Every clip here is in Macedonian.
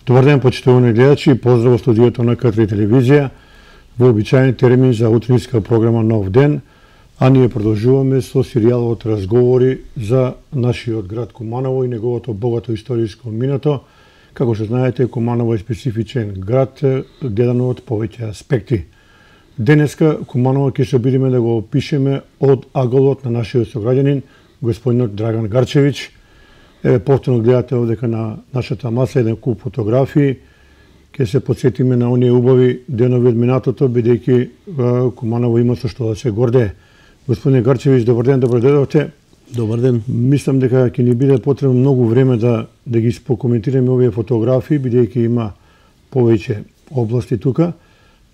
Добар ден, почитувани гледачи, поздрав во студиото на К3 телевизија, во обичаен термин за утринска програма Нов ден, а ние продолжуваме со серијалот разговори за нашиот град Куманово и неговото богато историско минато. Како што знаете, Куманово е специфичен град, гледано од повеќе аспекти. Денеска Куманово ќе се обидиме да го опишеме од аголот на нашиот сограѓанин, господинот Драган Гарчевич. Еве, повторно гледате овдека на нашата маса еден куп фотографии. Ќе се подсетиме на оние убави денови од минатото, бидејќи Куманово има со што да се гордее. Господин Гарчевич, добар ден, добро дојдовте. Добар ден. Мислам дека ќе ни биде потребно многу време да ги спокоментираме овие фотографии, бидејќи има повеќе области тука.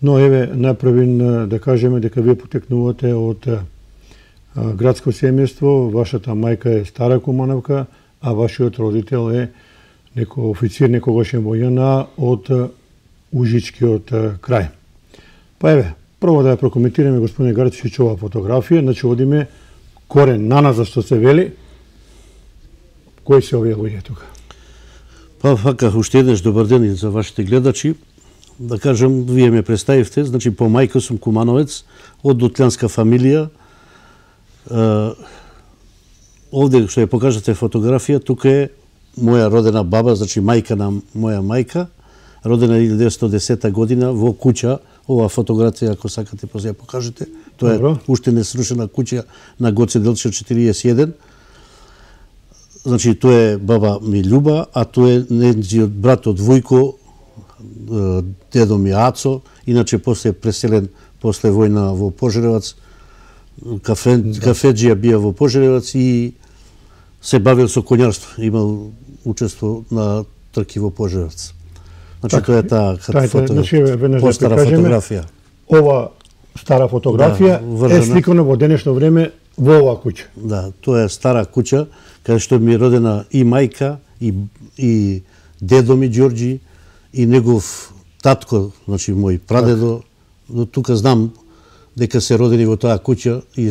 Но еве, најпрвин да кажеме дека вие потекнувате од градско семејство, вашата мајка е стара Кумановка, а вашиот родител е некој официр, некогашен во ЈНА од Ужичкиот крај. Па еве, прво да ја прокоментираме, господин Гарчевич, ова фотографија, значи одиме корен наназад, што се вели. Кои се овие луѓе тука? Па фака, уште еднаш добар ден и за вашите гледачи. Да кажам, вие ме представивте, значи по мајка сум кумановец, од дутлянска фамилија. Овде што ја покажате фотографија, тука е моја родена баба, значи мајка на моја мајка, родена 1910 година во куќа. Ова фотографија, ако сакате, после ја покажете. Тоа е уште не срушена куќа на Гоце Делчев 41. Значи, тоа е баба ми Љуба, а тоа е нејзиот брат од Војко, дедо ми Ацо, иначе после преселен после војна во Пожаревац, кафеджија бија во Пожаревац и се бавил со коњарство, имал учество на трки во Пожаревац. Значи, тоа е таа постара фотографија. Ова стара фотографија е сликана во денешно време во оваа куќа. Да, тоа е стара куќа, каде што ми е родена и мајка, и дедо ми Ѓорѓи, и негов татко, значи мој прадедо. Но тука знам дека се родени во таа куќа и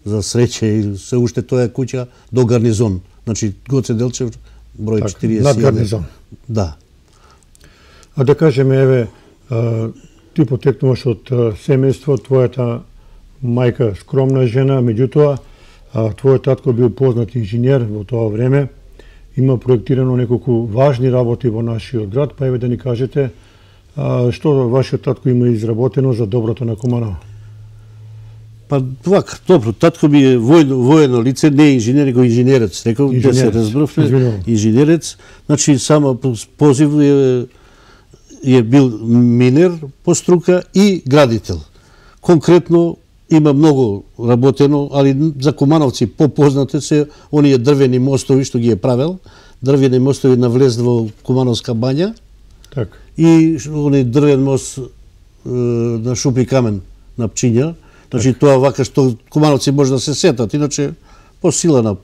за среќа и се уште тоа е куќа до гарнизон. Значи Гоце Делчев број 41. Над гарнизон. Да. А да кажеме, еве, ти потекнуваш од семејство, твојата мајка скромна жена, меѓутоа твојот татко бил познат инженер во тоа време, има проектирано неколку важни работи во нашиот град, па еве да ни кажете што вашиот татко има изработено за доброто на Куманово. Па вака, добро, татко ми е воено лице, не инженер, него инженерец, рекол, да се разбравме, инженерец, значи само позив е бил минер по струка и градител. Конкретно има многу работено, али за кумановци попознате се оние дрвени мостови што ги е правел, дрвени мостови навлез во Кумановска бања. Так. И оние дрвен мост на Шупи камен на Пчиња. Значи тоа вака што кумановци може да се сетат, иначе по сила на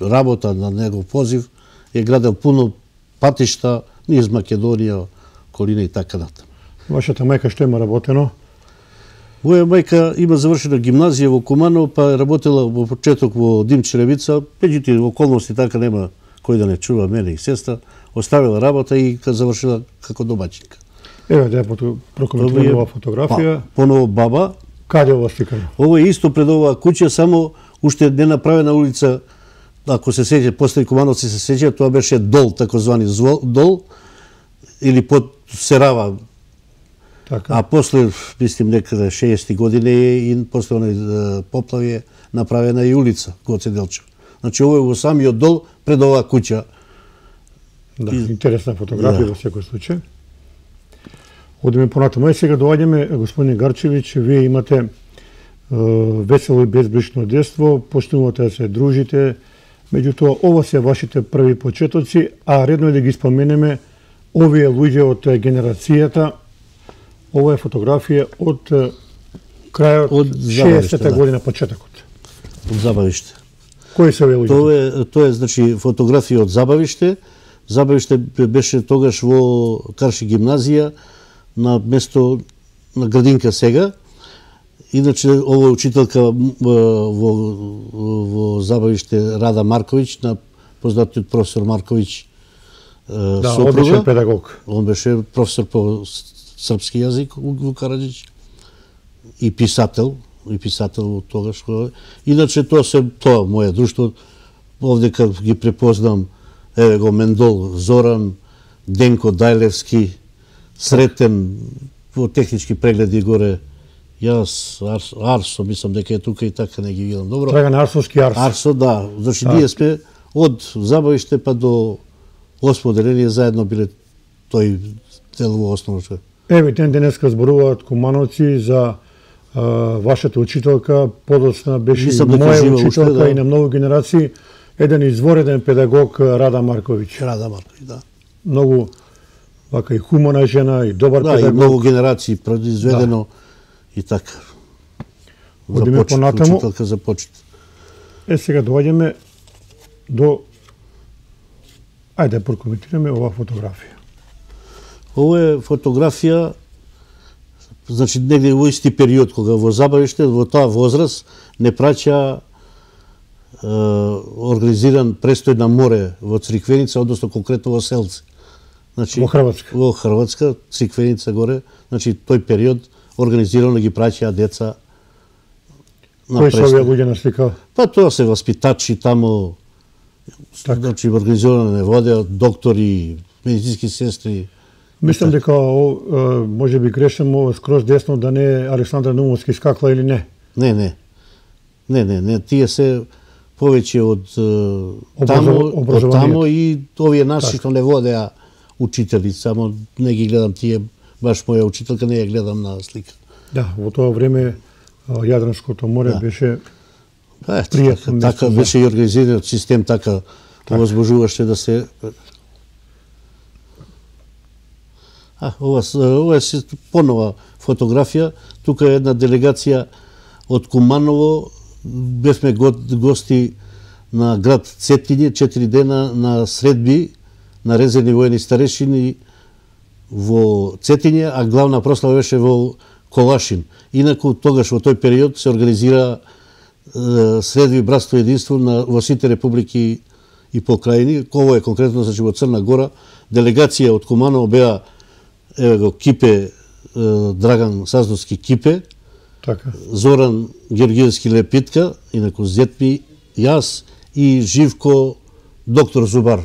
работа на негов позив е градел пуно патишта низ Македонија, Колина и така натаму. Вашата мајка што има работено? Моја мајка има завршена гимназија во Куманово, па е работела во почеток во Димчеревица, меѓутоа околности така нема кој да не чува мене и сестра, оставила работа и завршила како домаќинка. Еве да ја прокоментираме оваа фотографија. Поново баба. Каде ова сликано? Ова е исто пред оваа куќа, само уште не направена улица, ако се сеќа, после кумановци се сеќа, тоа беше дол, такозвани дол, или под Серава. Така. А после, мислим, некаде 60 години и после онај поплави е направена и улица Гоце Делчев. Значи, ово е во самиот дол пред оваа куќа. Да, интересна фотографија во секој случај. Одиме понатаму. Сега доаѓаме, господин Гарчевич, вие имате весело и безбришно детство, почнувате да се дружите, меѓутоа ова се вашите први почетоци, а редно е да ги споменеме овие луѓе од генерацијата. Ова е фотографија од крајот од 60-та година, почетокот. Од Забавиште. Кои се овие луѓе? Тоа е значи фотографија од Забавиште. Забавиште беше тогаш во Карши гимназија на место на градинка сега. Иначе ова е учителка во Забавиште Рада Марковиќ, на познатиот професор Марковиќ сопруга. Одличен педагог. Он беше професор по српски јазик во Караџич и писател тогаш. Иначе тоа моје друштво, овде како ги препознам, еве го Мендол Зоран, Денко Дајлевски, Сретен, во технички прегледи горе, јас, Арсо, мислам дека е тука и така не ги видам добро. Драган Арсовски Арсо. Арсо, да. Значи, ние сме од Забавиште па до 8 деление заедно биле тој дел во основно. Еве, денеска зборуваат кумановци за вашата учителка, подоцна беше и моја учителка и на многу генерации, еден извореден педагог Рада Марковиќ. Рада Марковиќ, да. Многу вака и хумана жена, и добар педагог. Да, и многу генерации произведено и така. Одиме понатаму. Учителка за почет. Сега доаѓаме до... Ајде да прокоментираме оваа фотографија. Ова е фотографија, значи негде во исти период кога во Забавиште, во таа возраст не праќа организиран престој на море во Цриквеница, односно конкретно во Селци. Значи, во Хрватска. Во Хрватска, Цриквеница горе, значи тој период организирано ги праќаа деца на престој. Кои се овие луѓе на слика? Па тоа се васпитачи таму, значи организирано не водеа доктори, медицински сестри. Мислам дека може би грешам скроз десно да не е Александра Наумовски скакла или не. Не, тие се повеќе од таму и овие наши што не водеа учители, само не ги гледам тие, баш моја учителка не ја гледам на слика. Да, во тоа време Јадранското море беше пријатно место. Така беше и организиран систем, така овозможуваше да се... Ова е понова фотографија. Тука е една делегација од Куманово. Бевме гости на град Цетиње, 4 дена на средби на резервни воени старешини во Цетиње, а главна прослава беше во Колашин. Инаку тогаш во тој период се организира средби братство и единство во сите републики и покрајни. Ово е конкретно значи во Црна Гора. Делегација од Куманово беа еве го Кипе Драган Саздовски Кипе, така. Зоран Георгиевски Лепитка, инаку зетми јас и Живко доктор Зубар.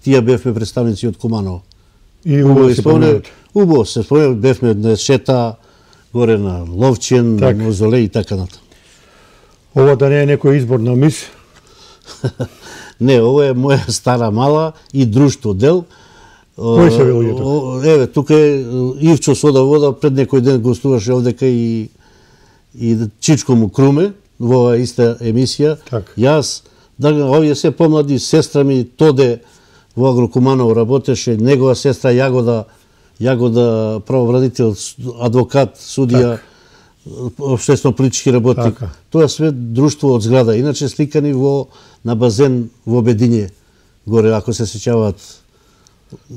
Тие бевме представници од Куманово. И убаво се спомнет, бевме на шета горе на Ловчен, на Мозоле и така натаму. Ова да не е некој избор на мис? Не, ова е моја стара мала и друштво дел. Кој се вели тука? Еве, тука е Ивчо Сода Вода, пред некој ден гостуваше овдека и Чичко му Круме во оваа иста емисија. Јас, овие се помлади, сестра ми Тоде во Агрокуманово работеше, негова сестра Јагода правобранител, адвокат, судија, општествено-политички работник. Тоа све друштво од зграда. Иначе сликани на базен во Бедиње, горе, ако се сеќаваат.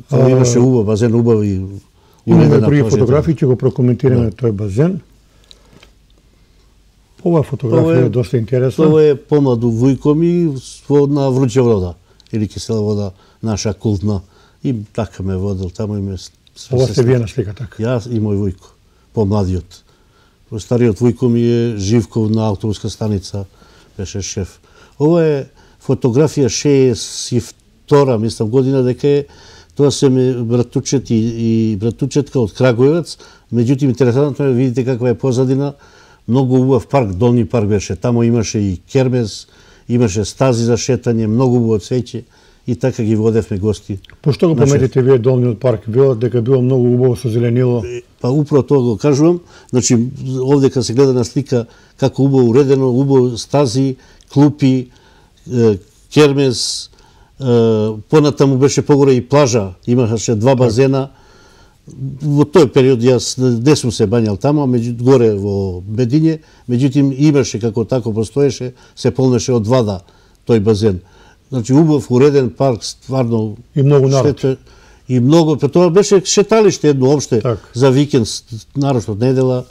Тоа имаше убав, базен убав и имаме други фотографии, ќе го прокоментираме тој базен. Ова фотографија е доста интересна. Ова е помладу вујко ми на Вручја вода, или кисела вода, наша култна. И така ме водел, таму и ме... Ова сте вие на слика, така? Јас и мој вујко, помладиот. Стариот вујко ми е Живков на автобуска станица, беше шеф. Ова е фотографија 62-а, мислам, година, дека е, тоа се ми братучет и братучетка од Крагуевец. Меѓутоа, интересантно е, видите каква е позадина, многу убав парк, Долни парк беше, таму имаше и кермес, имаше стази за шетање, многу убаво цвеќе и така ги водевме гости. Пошто го пометите вие долниот парк? Велат дека било многу убаво со зеленило. Па управо тоа го кажувам. Значи, овдека се гледа на слика како убаво уредено, убаво стази, клупи, кермес, понатаму беше погоре и плажа, имаше 2 базена. Во тој период јас не сум се бањал таму, горе во Медиње, меѓутоа имаше како тако постоеше, се полнеше од вода тој базен. Значи убав уреден парк, стварно и многу народ. И многу, тоа беше шеталиште едно опште за викенд, нарочно од недела,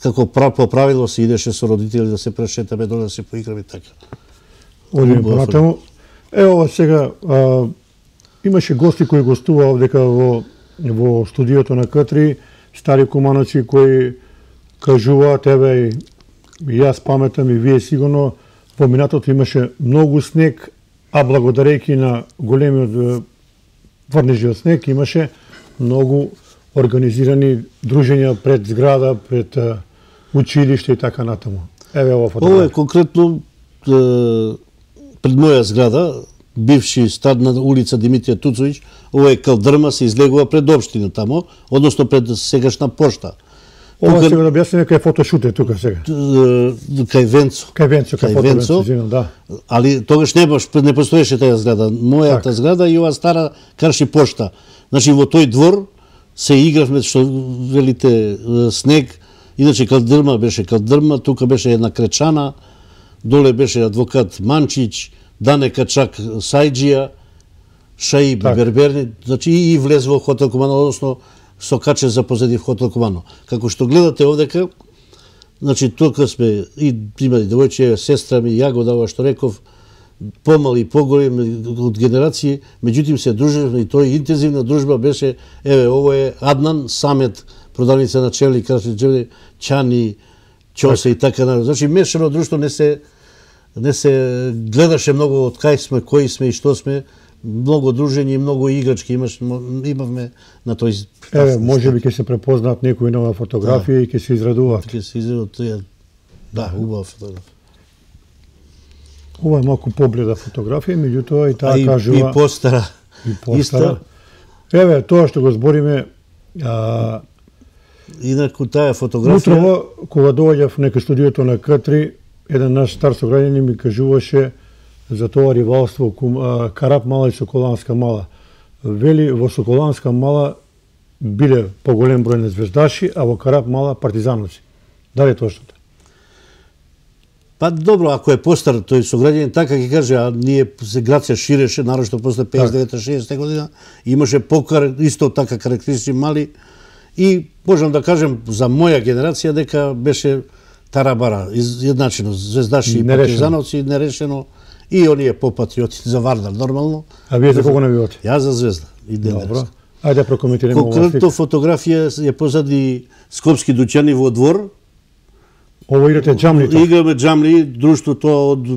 како по правило се идеше со родители да се прешетаме доле да се поиграме така. Одиме понатаму. Ево сега имаше гости кои гостуваа овдека во студиото на К3, стари кумановци кои кажуваат, еве и јас паметам и вие сигурно, во минатото имаше многу снег, а благодарејќи на големиот врнежиот снег имаше многу организирани дружења пред зграда, пред училиште и така натаму. Еве ова фотографија. Ова е конкретно пред моја зграда, бивши стад на улица Димитрија Туцовиќ, ова е калдрма, се излегува пред општина тамо, односно пред сегашна пошта. Ова сега да објасниме кај фотошут е тука сега. Кај Венцо. Кај Венцо, да. Али тогаш не постоеше таа зграда. Мојата зграда и ова стара Карши пошта. Значи во тој двор се игравме, што велите, снег. Иначе калдрма беше калдрма, тука беше една кречана, доле беше адвокат Манчич, Дане Качак Сајджија, Шаи Берберни, значи и влез во хотел Кумано, односно со каче за позади в хотел Кумано. Како што гледате овдека, значи тука сме и имали девојче, сестра ми, ја го дава што реков, помали и поголеми од генерации, меѓутоа се дружевме и тој интензивна дружба беше, еве, ово е Аднан Самет, продавница на чевли, крашни чани, чосе и така натаму. Значи мешано друштво не се гледаше многу од кај сме, кои сме и што сме, многу дружење и многу играчки имавме на тој. Еве, можеби ќе се препознаат некои нова фотографија и ќе се израдуваат. Ќе се израдуваат, да, убава фотографија. Ова е малку побледа фотографија, меѓутоа и таа кажува и постара. Иста. Еве, тоа што го збориме, инаку таа фотографија. Утрово, кога доаѓав некај студиото на К3, еден наш стар сограѓанин ми кажуваше за тоа ривалство Карап Мала и Соколанска Мала. Вели, во Соколанска Мала биле поголем број на звездаши, а во Карап Мала партизановци. Дали е точно? Па добро, ако е постар тој сограѓанин, така ќе каже, а ние се град се ширеше, нарошто после 59-60 година, имаше покар, исто така карактеристични мали, и можам да кажем за моја генерација дека беше тарабара, едначено, звездаши и партизановци, нерешено, и оние попатриоти за Вардар, нормално. А вие за кого навивате? Јас за Звезда и Денерска. Добро. Ајде да прокоментираме ова слика. Конкретно фотографија е позади Скопски дуќани во двор. Ово играте джамли? Играме джамли, друштвото од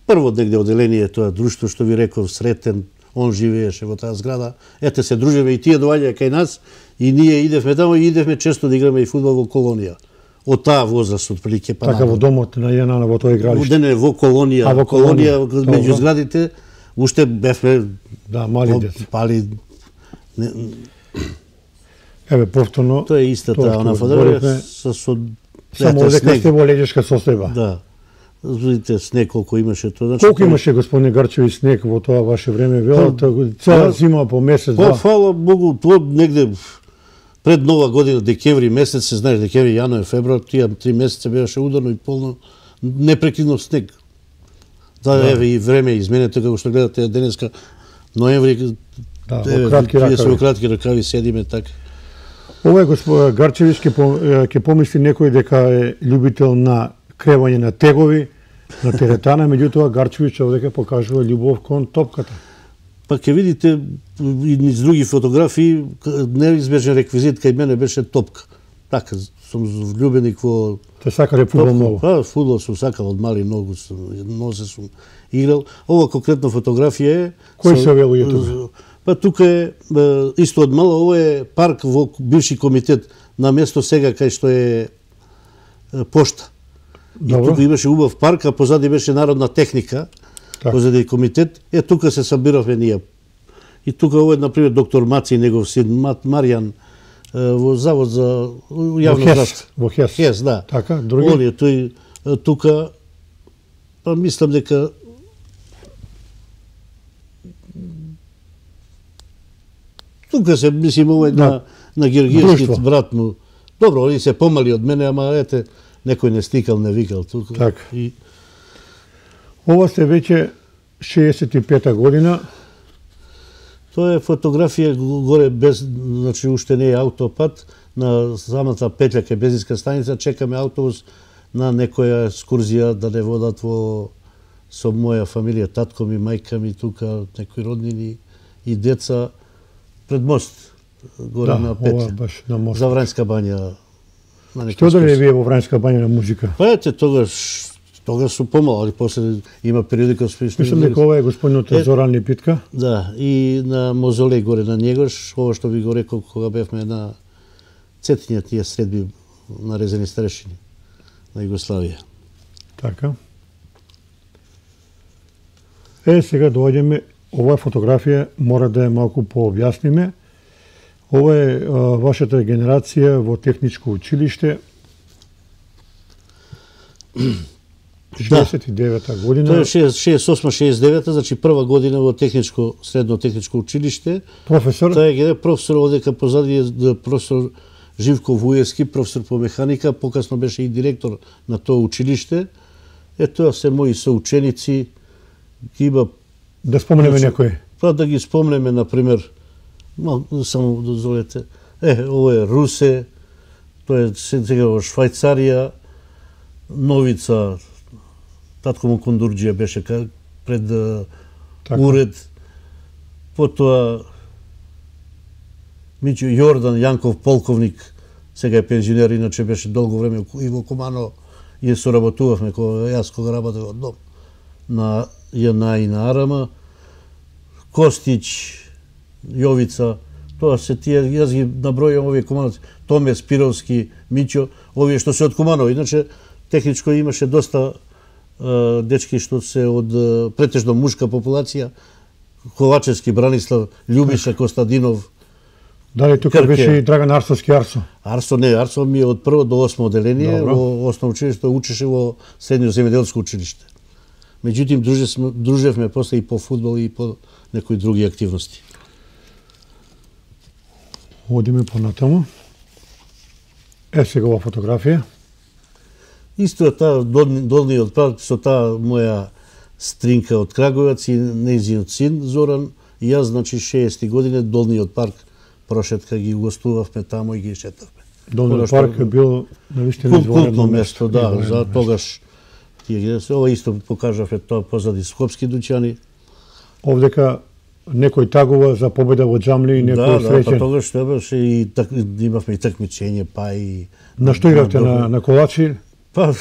прво негде оделение, тоа друштво што ви реков, Сретен, он живееше во таа зграда. Ете се дружеве и тие доаѓаа кај нас и ние идевме таму и идевме често да играме и фудбал во Колонија. Од таа возраст отприлике па. Така во домот на Јанана во тоа игралиште. Не, во Колонија. Во Колонија меѓу зградите уште бевме мали деца. Пали. Еве повторно. Тоа е истата она фотографија со само дека сте во леѓешка состојба. Да. Видите снег колку имаше тоа. Значи колку имаше господине Гарчеви снег во тоа ваше време? Велата цела зима по месец два. Фала Богу, тоа негде пред Нова година, декември месец, се знаеш, декември, јануари, февруар, тие 3 месеца беше ударно и полно непрекидно снег. Да, еве и време изменето како што гледате денеска, ноември, тие се во кратки ракави седиме така. Ова е Гарчевич ќе помисли некој дека е љубител на кревање на тегови, на теретана, меѓутоа Гарчевич овдека покажува љубов кон топката. Па ќе видите и низ други фотографии, неизбежен реквизит кај мене беше топка. Така, сум влюбеник во... Те сакале фудбал многу? Па, фудбал сум сакал од мали многу, нозе сум играл. Ова конкретно фотографија е... Кој се велуѓе тука? Па тука е, исто од мало, ова е парк во бивши комитет, на место сега кај што е пошта. И тука имаше убав парк, а позади беше народна техника. позади комитет, тука се собиравме ние. И тука овој, например, доктор Маци, негов син Маријан, во Завод за јавно здравство. Во ХЕС. ХЕС, да. Така, други? Оние, тој тука, па мислам дека тука се, мислим, овој на Георгиевски брат му. Добро, они се помали од мене, ама ете, некој не стикал, не викал тука. Така. Ова сте веќе 65-та година. Тоа е фотографија горе без, значи уште не е аутопат, на самата петля кај бензинска станица чекаме автобус на некоја екскурзија да не водат со моја фамилија, татко ми, мајка ми тука, некои роднини и деца пред мост горе на петля. Баш на мост. За Врањска бања. Што дали вие во Врањска бања на музика? Па ете, тогаш су помало, али после има периодика спишни. Мислам дека ова е господинот Зоран Липитка. Да, и на мозолеј горе на Njegош, ова што ви го рекол кога бевме на Цетиња тие средби на резени старешини на Југославија. Така. Сега доаѓаме, оваа фотографија мора да ја малку пообјасниме. Ова е вашата генерација во техничко училиште. 69-та година. Тоа е 68-69-та, значи прва година во техничко, средно техничко училиште. Професор? Тоа е професор, одека позади е професор Живко Вуевски, професор по механика, покасно беше и директор на тоа училиште. Тоа се мои соученици, има... Да спомнеме некои? Па да ги спомнеме, например, само дозволете, ово е Русе, тоа е сега во Швајцарија, Новица, татко му Кондурџија беше пред уред, потоа Миќо Јордан Јанков, полковник, сега е пензионер, иначе беше долго време и во Кумано, и соработувавме јас кога работев од дом на ЈНА и на Арама, Костич, Јовица, тоа се тие, јас ги набројам овие кумановци, Томе Спировски, Миќо, овие што се од Куманово, иначе техничко имаше доста дечки што се од претежно мушка популација, Ковачевски, Бранислав, Љубиша Костадинов. Дали тука беше и Драган Арсовски Арсо? Арсо не, Арсо ми е од прво до 8 оделение, во основно училиште, учеше во средно земјоделско училиште. Меѓутоа дружевме после и по фудбал и по некои други активности. Одиме понатаму. Сега ова фотографија. Исто е таа долниот парк со таа моја стринка од Крагуевац и нејзиниот син Зоран и јас, значи 60 години долниот парк прошетка ги гостувавме таму и ги шетавме. Долниот парк е бил навистина култно место, да, за тогаш тие ги ова исто покажавме тоа позади скопски дуќани. Овдека некој тагува за победа во џамли и некој среќен. Да, па тогаш тоа беше и имавме и такмичење, па и... На што игравте, на колачи? Па,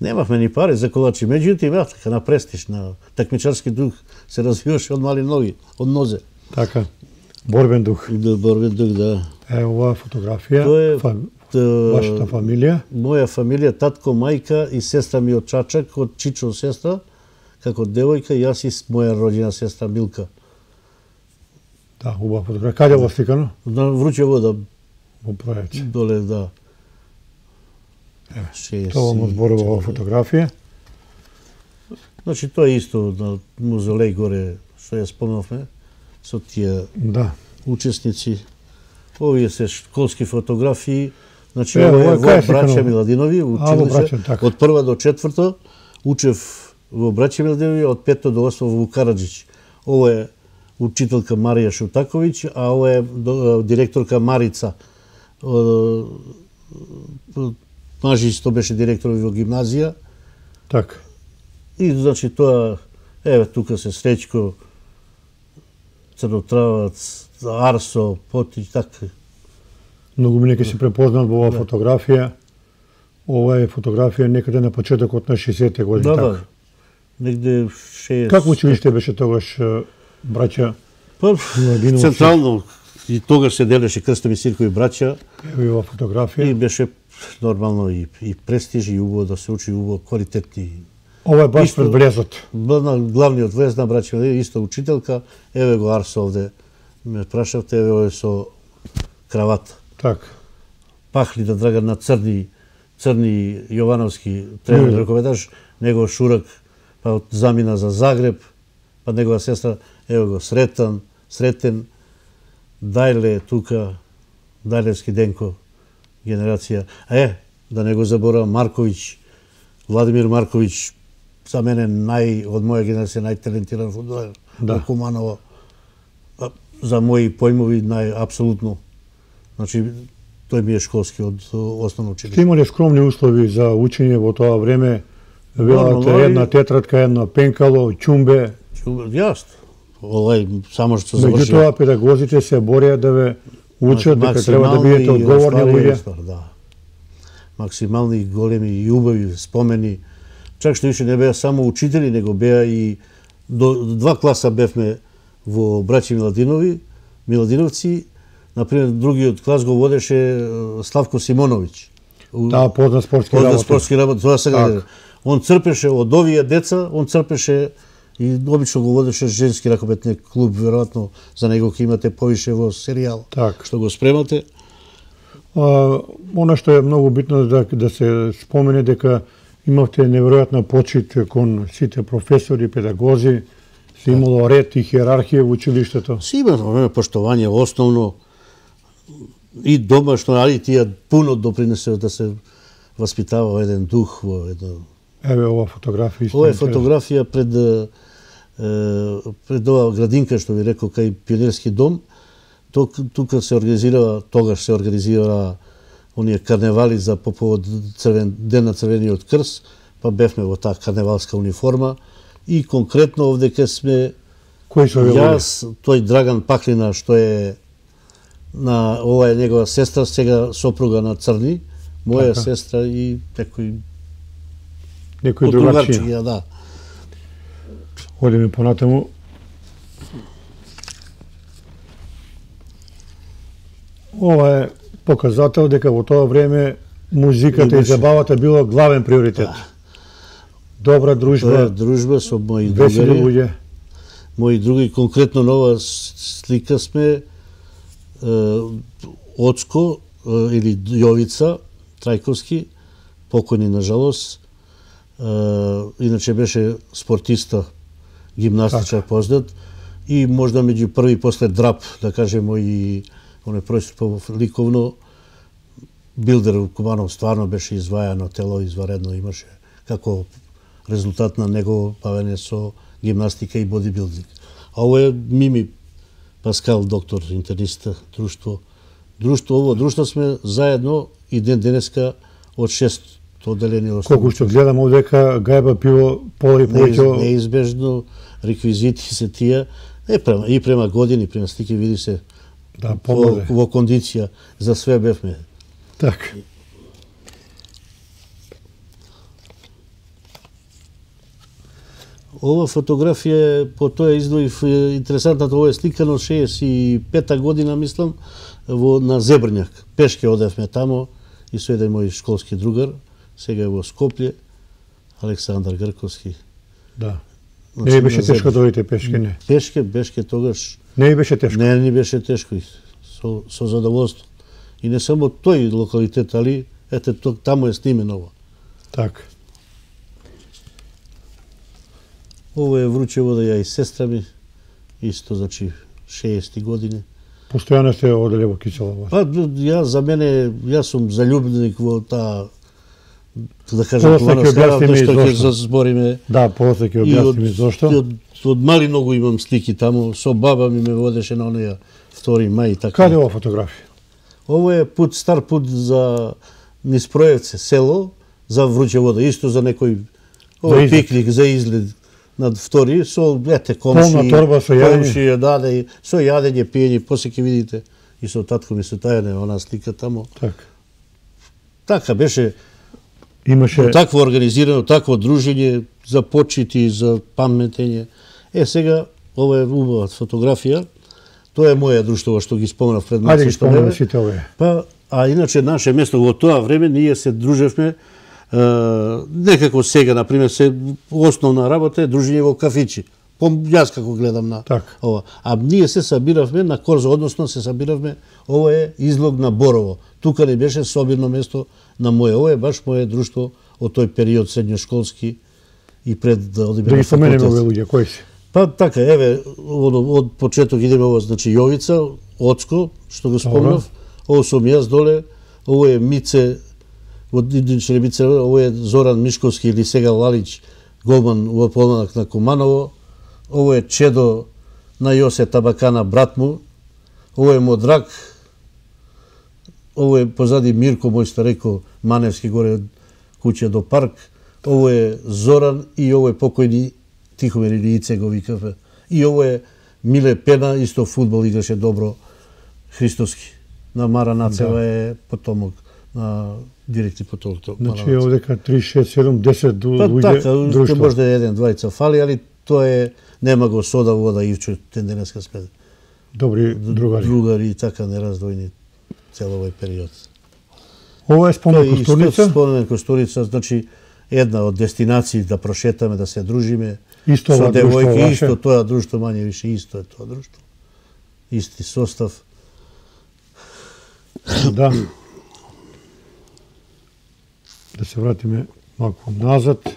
немавме ни пари за колачи, меѓутоа имавме на престиж, на такмичарски дух се развиваше од мали ноги, од нозе. Така, борбен дух. Да, борбен дух, да. Оваа фотографија, вашата фамилија? Моја фамилија, татко, мајка и сестра ми од Чачак, од Чичо сестра, како девојка, јас и моја роđена сестра Милка. Да, убава фотографија. Каде во сликано? На Вручево, да. Во Пројаче. Доле, да. Тоа му зборува оваа фотографија. Значи, тоа е исто на музолеј горе, што ја спомнавме, со тие учесници. Овие се школски фотографии. Значи, ова е во Браќа Миладинови, училище, од прва до четврто. Учев во Браќа Миладинови, од 5 до 8 во Караджич. Ова е учителка Марија Шутаковиќ, а ова е директорка Марица. Мажи што беше директор во гимназија. Така. И, значи, тоа, тука се Среќко, Црнотравац, Арсо, Потич, така. Многу ми нека се препознат во оваа фотографија. Ова е фотографија некаде на почетокот на 60-те години. Да, негде 60... Како училиште беше тогаш, браќа? Па, централно, и тогаш се делеше Крстови Сиркови браќа. Ево и ова фотографија. И беше нормално и престиж, и убаво да се учи, убаво квалитетни Ова е баш пред влезот. Главниот влез на браќа Милодинови, исто учителка, еве го Арсо овде. Ме прашавте, еве овде со кравата. Така. Пахли да Драган на Црни Јовановски тренер рковедаш, негов шурак, па замина за Загреб, па негова сестра, еве го Сретен, Дајле тука, Дајлевски Денко, генерација. Да не го заборам, Марковиќ, Владимир Марковиќ, за мене од моја генерација најталентиран фудбалер, Куманово, за мои појмови апсолутно. Значи, тој ми е школски од основно училиште. Сте имале скромни услови за учење во тоа време? Велате една тетрадка, едно пенкало, ќумбе. Јасно. Само што завршија. Меѓутоа, педагозите се борија да ве учат дека треба да бидете одговорни луѓе. Да. Максимални големи и убави спомени. Чак што више не беа само учители, него беа и до 2 класа бевме во браќи Миладиновци. Например, другиот клас го водеше Славко Симоновиќ. Да, познат спортски работ. Тоа сега он црпеше од овие деца, и обично го водеше женски ракометни клуб, веројатно за него ќе имате повише во серијал, што го спремате. Она што е многу битно да се спомене дека имавте неверојатна почит кон сите професори, педагози, се имало ред и хиерархија во училиштето. Се имало поштовање основно и домашно, али тие пуно допринесува да се воспитава еден дух во едно. Еве ова фотографија. Ова е фотографија пред ова градинка што ви рекол кај Пионерски дом. Тука се организира, тогаш се организира оние карневали за по повод Ден на Црвениот крст, па бевме во таа карневалска униформа и конкретно овде ке сме јас, тој Драган Паклина што е ова е негова сестра, сега сопруга на Црни, моја сестра и некој другарчија. Да. Одиме понатаму. Ова е показател дека во тоа време музиката и забавата било главен приоритет. Добра дружба. Дружба со мои другари. Мои други, конкретно нова слика сме Оцко или Јовица Трајковски, покојни на жалост. Иначе беше спортиста, гимнастичар познат и можда меѓу први после Драп, да кажемо, и оне происто ликовно Билдер Куманов стварно беше извајано тело, изваредно имаше како резултат на негово бавење со гимнастика и бодибилдинг. А ово е Мими Паскал, доктор, интерниста, друштво. Ово друштво сме заедно и ден денеска од 6 одделение. Колку што гледам овдека гајба пиво пола и повеќе. Неизбежно реквизити се тие, и према години, према слики види се во кондиција, за све бевме. Така. Ова фотографија по тоа издвоив интересантната, ова е сликано 65-та година, мислам, на Зебрњак. Пешке одевме тамо и со еден мој школски другар, сега е во Скопје, Александар Грковски. Да. Не беше тешко да одите пешке, не? Пешке тогаш. Не беше тешко? Не, не беше тешко. Со задоволство. И не само тој локалитет, али ете таму е снимено ова. Така. Ова е Вручевода, ја и сестра ми, исто, значи, 60 години. Постојано сте оделе во Киселово? Па, јас сум заљубник во таа, да кажем, плановска, што ќе збориме. Да, после ќе објасниме зошто. Од мали многу имам слики таму, со баба ми ме водеше на онеја 2 мај и така. Каде е ова фотографија? Ово е стар пут за низ Проевце, село, за Вручевода, исто за некој пикник, за излед над 2, со комши, полна торба со јадење, даде, со јадење, пиење, после ќе видите и со татко ми се тајане она слика тамо. Така беше. Имаше такво организирано, такво дружење за почити, за паметење. Сега ова е убава фотографија. Тоа е моја друштво што ги спомнав пред малку што не. А иначе наше место во тоа време ние се дружевме Некако сега, например, основна работа е дружење во кафичи. Јас како гледам на ова. А ние се сабиравме на Корзо, односно се сабиравме, ова е излог на Борово. Тука не беше собирно место на моје. Ова е баш моје друштво од тој период средњошколски и пред да одиме на факултет. Да ги споменеме овие луѓе, кои се? Па така, еве, од почеток идеме ова, значи Јовица, Оцко, што го спомнав, ово сум јас доле, ово е Мице, од Идниче Мице, ово е Зоран Мишковски или сега Лалич, голман во помладок на Куманово, ово е чедо на Јосе Табакана, брат му, ово е Модрак, ово е позади Мирко, мој стареко Маневски, горе од куќе до парк, ово е Зоран и ово е покојни Тихомир или Ице го викавме. И ово е Миле Пена, исто фудбал играше добро, Христовски. На Мара Нацева е потомок на директни потомок. Значи овдека 3, 6, 7, 10 луѓе друштво. Така, може да е еден, двајца фали, али тоа е, нема го сода вода Ивчо, тенденеска сме. Добри другари. Другари и така нераздвојни цел овој период. Ова е Спомен Костурица? Спомен Костурица, значи една од дестинации да прошетаме, да се дружиме. Исто со девојки, исто тоа друштво, мање више исто е тоа друштво. Исти состав. Да. Да се вратиме малку назад.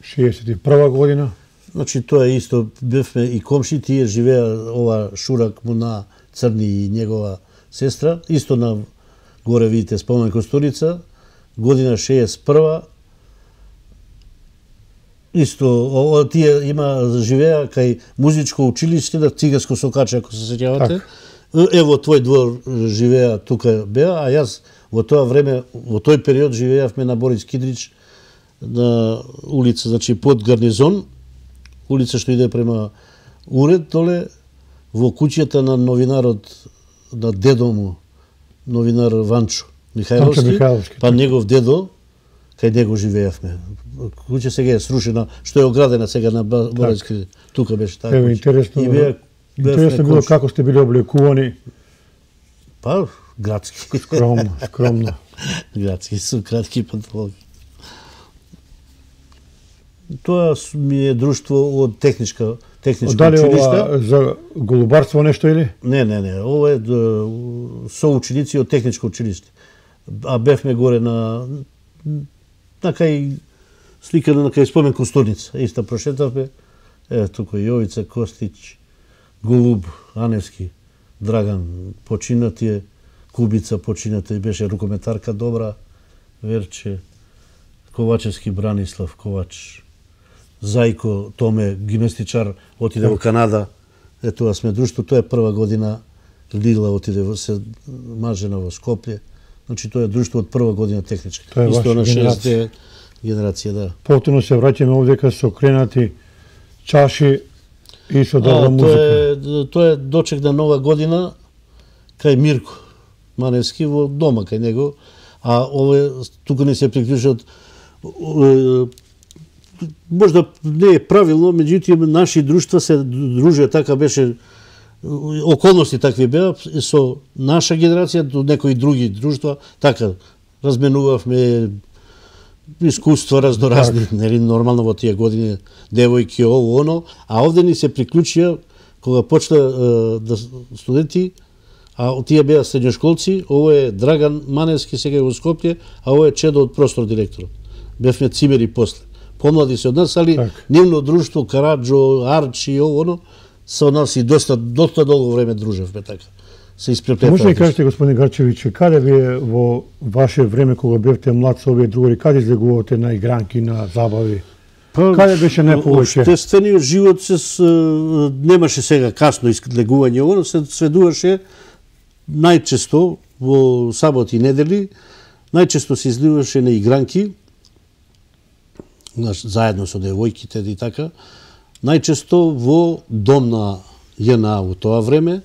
61 година. Значи тоа е исто, бевме и комши, тие живеа ова Шурак му на Црни и негова сестра, исто на горе видите Спомен Костурица, година 61. Исто, тие живеа кај музичко училиште на Циганско Сокаче, ако се сеќавате. Ево твој двор живеа тука беа, а јас во тоа време, во тој период живеавме на Борис Кидрич, на улица, значи под гарнизон, улица што иде према уред доле, во куќата на новинарот, на дедо му, новинар Ванчо Михајловски, па негов дедо, кај него живеевме. Куќа сега е срушена, што е оградена сега на Бориски, тука беше така. Ево, интересно било како сте били облекувани. Па, градски. Скромно. Градски, со кратки панталони. Тоа ми е друштво од техничко училиште. Дали ова за голубарство нешто или? Не. Ова е соученици од техничко училиште. А бевме горе на кај сликана на кај Спомен Костурица. Иста прошетавме. Тука Јовица, Костич, Голуб, Аневски, Драган, починати, Кубица почината и беше рукометарка добра, Верче, Ковачевски Бранислав Ковач, Зајко Томе, гимнастичар, отиде во Канада. Тоа сме друштво, тоа е прва година. Лила отиде се мажена во Скопје. Значи тоа е друштво од прва година техничка. Тоа е ваша генерација. Генерација, да. Повторно се враќаме овдека со кренати чаши и со добра музика. Тоа е дочек на нова година кај Мирко Маневски во дома кај него, а ове тука не се приклучат. Можда не е правилно, меѓутоа наши друштва се дружеа, така беше, околности такви беа, со наша генерација до некои други друштва, така разменувавме искуства разноразни, нели нормално во тие години, девојки, ово, оно, а овде ни се приклучија кога почна студенти, а тие беа средњошколци, ово е Драган Маневски сега во Скопје, а ово е чедо од простор директорот. Бевме цимери после. Помлади се од нас, али нивно друштво, Караджо, Арчи и ово, оно, со нас и доста долго време дружевме така. Се испреплетавме. Може ли кажете, господин Гарчевиќ, каде вие во ваше време кога бевте млад со овие другари, каде излегувате на игранки, на забави? Каде беше најповеќе? Обштествениот живот немаше сега касно излегување, оно се сведуваше најчесто во саботи и недели, најчесто се изливаше на игранки, заедно со девојките и така, најчесто во дом на ЈНА во тоа време,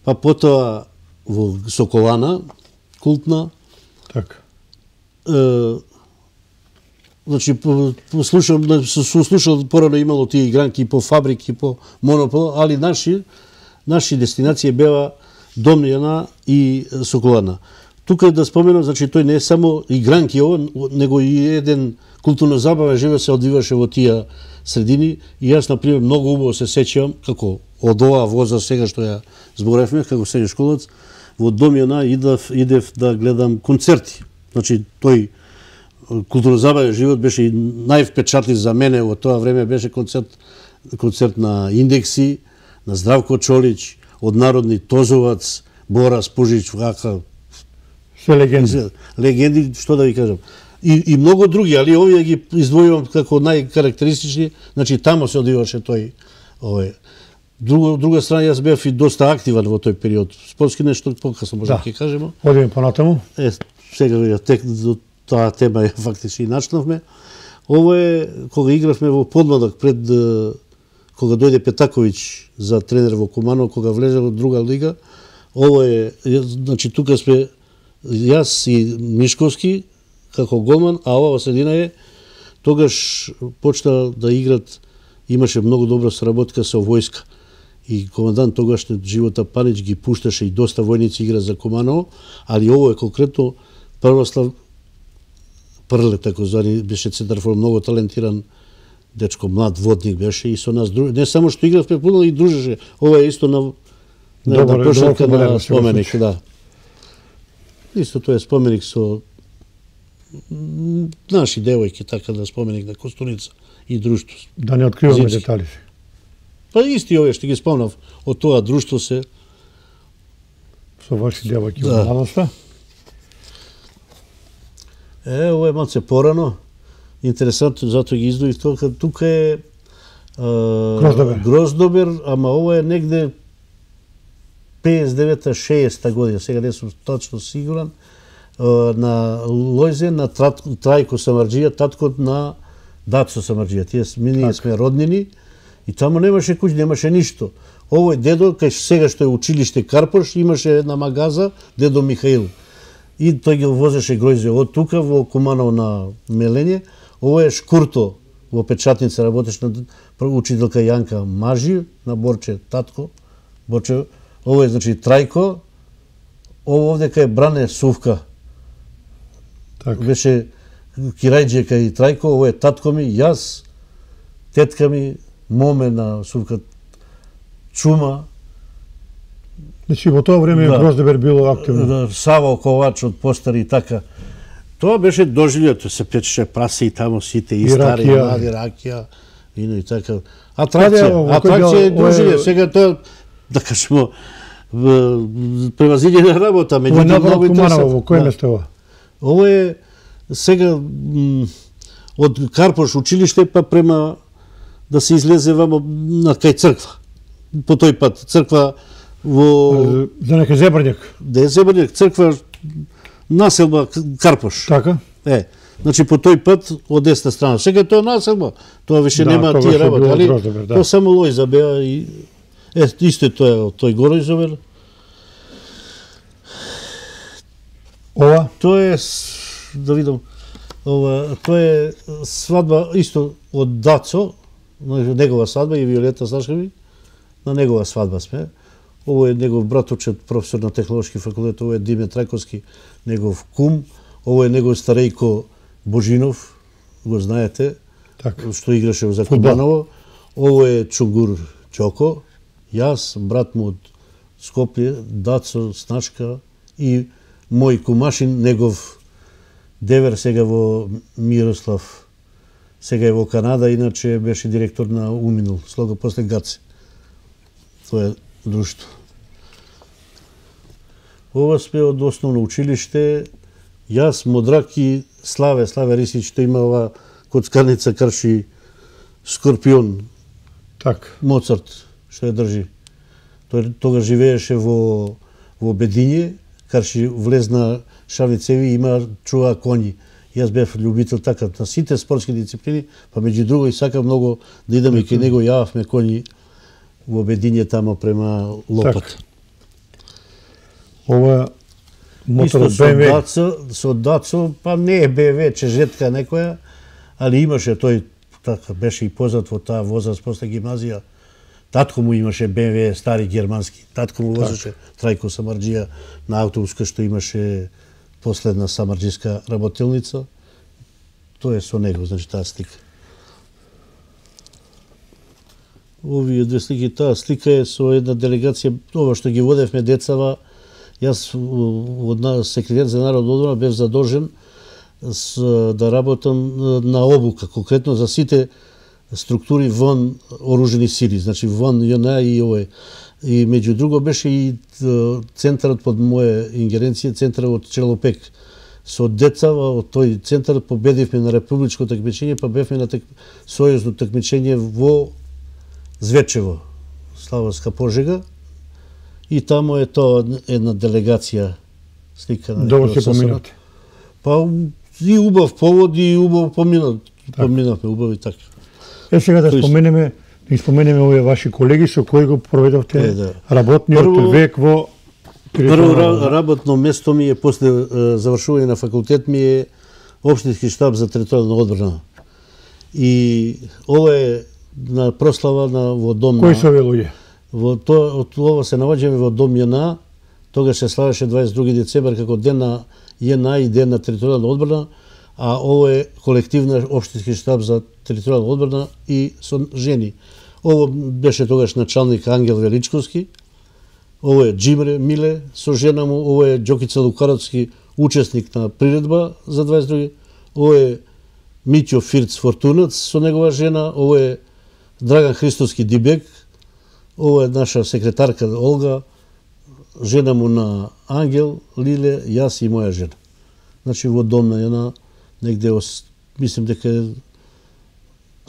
па потоа во Соколана, култна. Така. Значи, слушал порано имало тие игранки по фабрики, по монопол, али наши дестинации беа Дом на ЈНА и Соколана. тука да споменам, значи тој не е само игранки него и еден културно забавен живот се одвиваше во тие средини и јас на пример многу убаво се сеќавам како од оваа возраст сега што ја зборевме како средношколец во Дом Јана идев да гледам концерти. Значи тој културно забавен живот беше и највпечатлив за мене во тоа време беше концерт на Индекси, на Здравко Чолич, од народни Тозовац, Бора Спужич, вака се легенди. Легенди, што да ви кажам. И многу други, али овие ги издвојувам како најкарактеристични, значи тамо се одиваше тој Друга страна, јас бев и доста активен во тој период. Спортски нешто покасно може да ќе кажеме. Одиме понатаму. Сега до таа тема фактички и начнавме. Ово е кога игравме во подмладок пред кога дојде Петаковиќ за тренер во Куманово, кога влезе во друга лига. Ово е, значи тука сме јас и Мишковски како голман, а ова во средина е тогаш почна да играт, имаше многу добра соработка со војска. И командант тогашниот Живота Панич ги пушташе и доста војници игра за Куманово, али ово е конкретно Првослав Прле, тако звани, беше центарфор, многу талентиран дечко, млад водник беше и со нас не само што игравме пуно и дружеше. Ова е исто на прошетка на споменик, да. Исто тоа е споменик со наши девојки, така да споменик на Костуница и друштво. Да не откриваме детали. Па исти овие што ги спомнав од тоа друштво се со ваши девојки во младоста. Ова е малце порано. Интересантно, затоа ги издвоив тоа. Тука е Гроздобер, ама ова е негде 59-60 година, сега не сум точно сигурен, на Лојзе, на Трајко Самарџија, таткот на Дацо Самарџија. Тие ние сме роднини и таму немаше куќа, немаше ништо. Овој дедо, кај сега што е училиште Карпош, имаше една магаза, дедо Михаил. И тој ги возеше гројзе од тука во Куманово на мелење. Ово е Шкурто, во печатница работеше на учителка Јанка Мажи, на Борче татко. Борче, ово е значи Трајко. Ово овде кај Бране Сувка. Так. Беше Кирајџе кај Трајко, ово е татко ми, јас, тетка ми, моме на Сувка Чума. Значи во тоа време Гроздобер било активно. Саво Ковач од постари и така. Тоа беше доживјето, се печеше прасе и тамо сите и стари, и млади, ракија, вино и така. Атракција е доживје. Сега тоа, да кажемо, превазидена работа. Ово е напор од Куманово, во кој место ова? Ово е сега од Карпош училиште па према да се излезе вамо на кај црква. По тој пат црква во за некој Зебрњак. Да е Зебрњак, црква населба Карпош. Така? Значи по тој пат од десна страна. Сега тоа населба, тоа више нема тие работи, али тоа само Лојза беа и исто тоа е тој Горојзовер. Ова? Тоа е, да видам, тоа е свадба исто од Дацо, негова свадба и Виолета Сашкеви, на негова свадба сме. Ово е негов браточет, професор на Технолошки факултет, ово е Диме Трајковски, негов кум, ово е негов старејко Божинов, го знаете, што играше за Кубаново. Ово е Чугур Ќоко, јас, брат му од Скопје, Дацо Снашка и мој кумашин, негов девер сега во Мирослав, сега е во Канада, иначе беше директор на Уминул, слого после Гаце. Тоа е друштво. Ова сме од основно училиште, јас, Модрак и Славе Рисич, што има ова коцкарница карши Скорпион, Моцарт, што ја држи. Тој тога живееше во Бедиње, карши влезна Шавицеви, има чува коњи. Јас бев љубител така на сите спортски дисциплини, па меѓу друго и сакам многу да идеме кај него, јававме коњи во Бедиње тамо према Лопат. Ова мотор БМВ. Со Дацо, па не е БМВ, чежетка некоја, али имаше тој, така, беше и познат во таа возраст после гимназија. Татко му имаше БМВ стари германски. Татко му возеше Трајко Самарџија на автобус, што имаше последна самарџиска работилница. Тоа е со него, значи таа слика. Овие две слики, таа слика е со една делегација, ова што ги водевме децава. Јас од секретар за народна одбрана бев задолжен да работам на обука, конкретно за сите структури вон оружени сили, значи вон ЈНА и овој. И меѓу друго беше и центарот под моја ингеренција, центарот од Челопек. Со децава од тој центар победивме на републичко такмичење, па бевме на сојузно такмичење во Звечево, Славонска Пожега. И тамо е тоа една делегација слика на Добро се поминате. Па и убав повод и убав поминавме убави така. Сега да споменеме овие ваши колеги со кои го проведовте работниот век во Прво работно место ми е после завршување на факултет ми е општински штаб за територијална одбрана. И ова е на прослава во дом. Кои се овие луѓе? Од ова се наоѓаме во дом ЈНА. Тогаш се славеше 22 децември како ден на ЈНА и ден на територијална одбрана, а ова е колективна општински штаб за територијална одбрана и со жени. Ово беше тогаш началник Ангел Величковски. Ово е Джимре Миле со жена му, ово е Ѓокица Лукаровски, учесник на приредба за 22. Ово е Миќо Фирц Фортунац со негова жена, ово е Драган Христовски Дибек, ово е наша секретарка Олга, жена му на Ангел, Лиле, јас и моја жена. Значи во дом на ЈНА негде, мислим дека е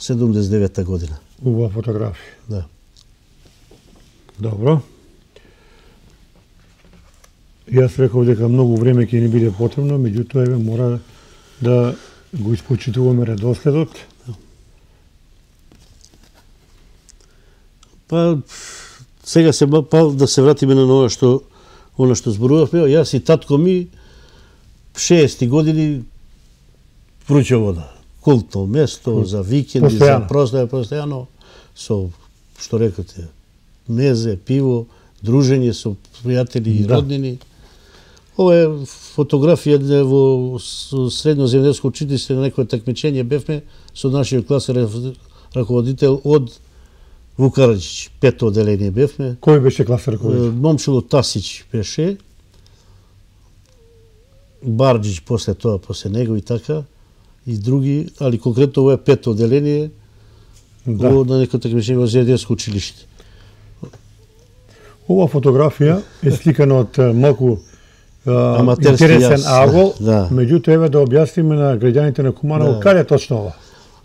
79-та година. Убава фотографија. Да. Добро. Јас реков дека многу време ќе ни биде потребно, меѓутоа еве мора да го испочитуваме редоследот. Па сега да се вратиме на она што зборувавме. Јас и татко ми 60 години вруча вода. Култно место за викенди, за постојано со што рекоте, мезе, пиво, дружење со пријатели и роднини. Ова е фотографија во средноземјанско училиште на некој такмичење бевме со нашиот класен раководител од Вукараџич, 5-то оделение бевме. Кој беше класен раководител? Момчило Тасич беше, Барџич после тоа, после него и така, и други, али конкретно ова е 5-то оделение на некој такмичење во земјанско училиште. Ова фотографија е сликана од малку интересен агол, меѓутоа еве да објасниме на граѓаните на Куманово каде точно ова?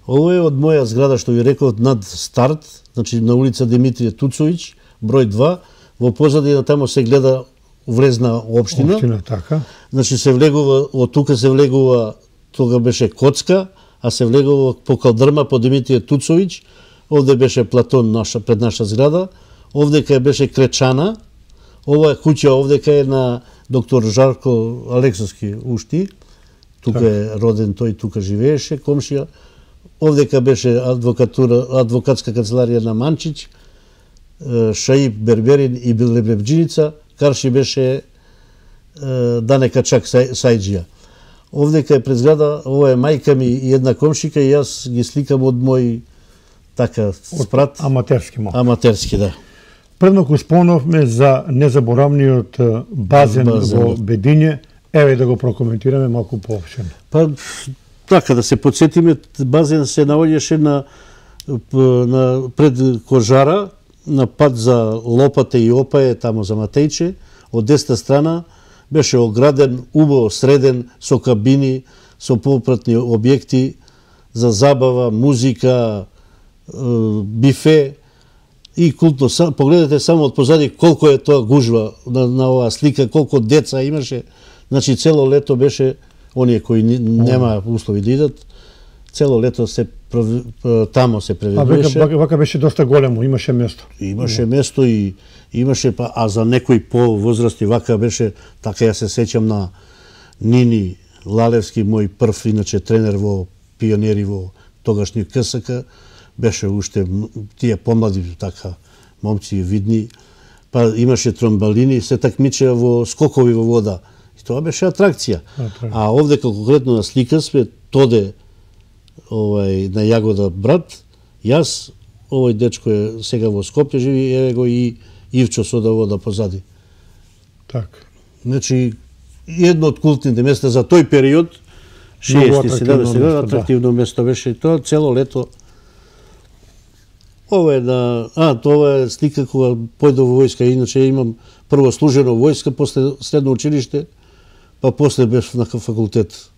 Ова е од моја зграда што ви реков над старт, значи на улица Димитрije Туцовиќ, број 2, во позадина тамо се гледа врезна општина. Општина, така. Значи се влегува, од тука се влегува, тога беше Коцка, а се влегува по Калдрма, по Димитрije Туцовиќ, овде беше Платон пред наша зграда, овдека беше Кречана, ова куќа овдека е на доктор Жарко Алексовски ушти, тука е роден тој, тука живееше, комшија. Овдека беше адвокатска канцеларија на Манчич, Шаиб Берберин и Лебебџиница, Карши беше Дане Качак Сајџија. Овдека е пред зграда, ова е мајка ми и една комшика и јас ги сликам од мој така спрат. Аматерски малку. Аматерски, да. Предноку спомнавме за незаборавниот базен во Бедиње. Еве да го прокоментираме малку поопштено. Па така да се потсетиме, базен се наоѓаше на пред Кожара, на пат за Лопате и Опаје, тамо за Матејче, од десна страна беше ограден, убаво среден, со кабини, со попратни објекти за забава, музика, бифе и култно. Погледнете само од позади колку е тоа гужва на оваа слика, колку деца имаше. Значи цело лето беше, оние кои нема услови да идат, цело лето се тамо се преведуваше. Вака беше доста големо, имаше место. Имаше место и имаше, а за некои по-возрасти вака беше, така ја се сеќам на Нини Лалевски, мој прв, иначе тренер во пионери во тогашни КСК, беше уште тие помлади така момци видни, па имаше тромбалини, се такмичеа во скокови во вода И тоа беше атракција. А овде конкретно на слика сме Тоде на Јагода брат, јас, овој дечко е сега во Скопје живи, еве го и Ивчо Содавода позади. Така. Значи, едно од култните места за тој период, 60-70 атрактивно место беше и тоа цело лето. Ова е тоа е слика кога појдов во војска, иначе имам прво служено војска, после средно училиште, па после бев на факултет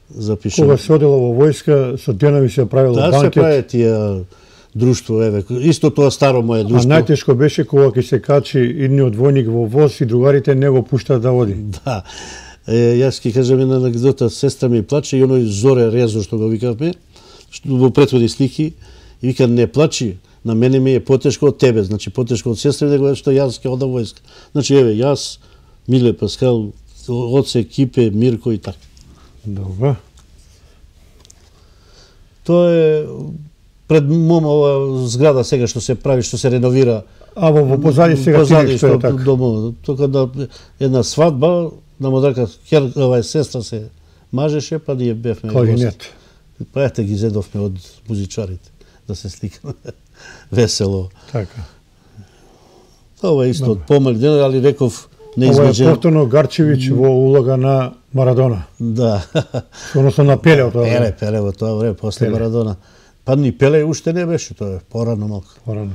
запишан. Кога се одело во војска, со денови се правило банкет. Да, се прави тие друштво, еве, исто тоа старо мое друштво. А најтешко беше кога ќе се качи идниот војник во воз и другарите не го пуштаат да води. Да. Јас ќе кажам една анекдота, сестра ми плаче и оној Зоре Резо што го викавме, во претходни слики, и вика не плачи, на мене ми е потешко од тебе, значи потешко од сестра него што јас ќе одам војска. Значи еве јас, Миле Паскал, Оце, Кипе, Мирко и така. Добро. Тоа е пред мома ова зграда сега што се прави, што се реновира. А во позади сега позади што е така. Домо, тука да една свадба на модерка сестра се мажеше, па ние бевме кларинет. Па ете ги зедовме од музичарите да се сликаме весело. Така. Ова е исто од помали ден, али реков Ова неизбежен. е повторно Гарчевиќ во улога на Марадона. Да. Односно на Пеле од тоа. Пеле во тоа време после Марадона. Па ни Пеле уште не беше, тоа е порано малку. Порано.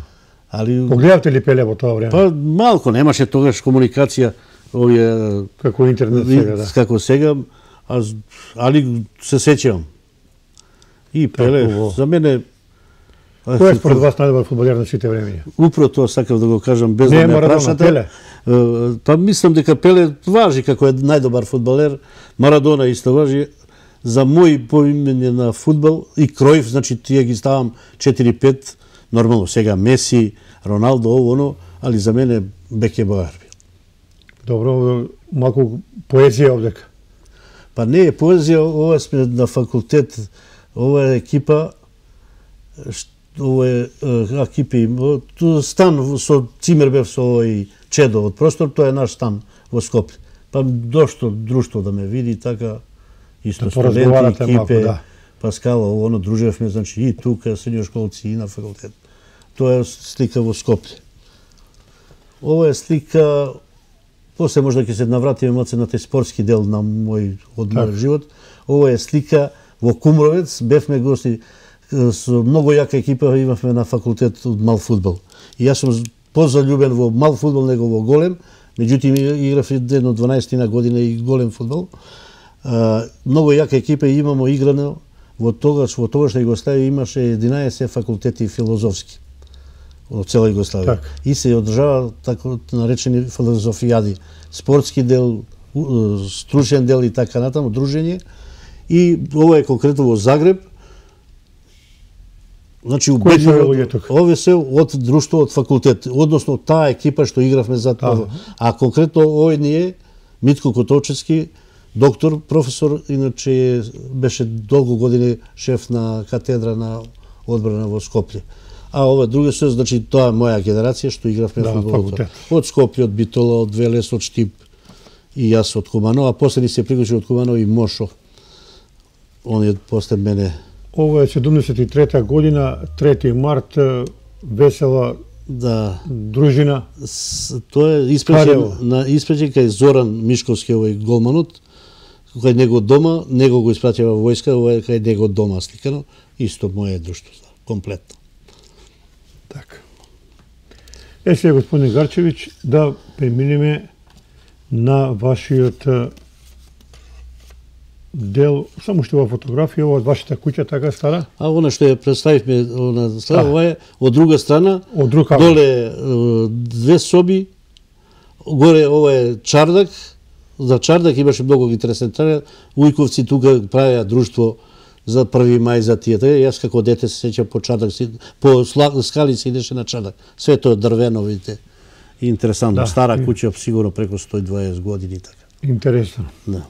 Али погледавте ли Пеле во тоа време? Па малку, немаше тогаш комуникација овие како интернет сега, да. Како сега, али се сеќавам. И Пеле за мене Кој е според вас најдобар фудбалер на сите времиња? Управо тоа сакав да го кажам без да ме прашате. Пеле. Па мислам дека Пеле важи како е најдобар фудбалер, Марадона исто важи. За мој поимене на фудбал и Кројф, значи тие ги ставам 4-5, нормално сега Меси, Роналдо, оно, али за мене Бекебауер бил. Добро, малку поезија овдека. Па не е поезија, ова сме на факултет, ова е екипа, ова е екипи, стан со цимер бев со овој Чедо од простор, тоа е наш стан во Скопје. Па дошто друштво да ме види така, исто студенти, екипе, да. Паскала, оно дружевме, значи и тука, средњошколци, и на факултет. Тоа е слика во Скопје. Ова е слика, после можда ќе се навратиме малце на тој спортски дел на мојот живот. Ова е слика во Кумровец, бевме гости со многу јака екипа, имавме на факултет од мал фудбал. И јас сум позалюбен во мал фудбал него во голем, меѓутоа играв едно 12 година и голем фудбал. Многу јака екипа имамо играно во тогашна Југославија имаше 11 факултети филозофски во цела Југославија. И се одржава така наречени филозофијади, спортски дел, стручен дел и така натаму, дружење. И ова е конкретно во Загреб. Значи овие се од друштво од факултет, односно таа екипа што игравме за тоа. А конкретно овој ни е Митко Котовчевски, доктор, професор, иначе беше долго години шеф на катедра на одбрана во Скопје. А ова други се, значи тоа е моја генерација што игравме фудбал. Од Скопје, од Битола, од Велес, од Штип и јас од Куманово, а после ни се приклучи од Куманово и Мошо. Он е после мене. Ова е 73-та година, 3 март, весела дружина. Тоа е испратен кај Зоран Мишковски, овој голманот, кај него дома, него го испратија во војска, ова е кај него дома сликано, исто моје друштво, комплетно. Така. Сега, господин Гарчевиќ, да преминеме на вашиот дел, само што ова фотографија, ова од вашата куќа така стара? А она што ја представивме, ова е од друга страна, доле 2 соби, горе ова е чардак, за чардак имаше многу интересен чардак, Ујковци тука правеа друштво за 1 мај за тие. Јас како дете се сеќам по чардак, по скали се идеше на чардак. Све тоа дрвено, видите. Интересантно, стара куќа, сигурно преку 120 години така. Интересно. Да.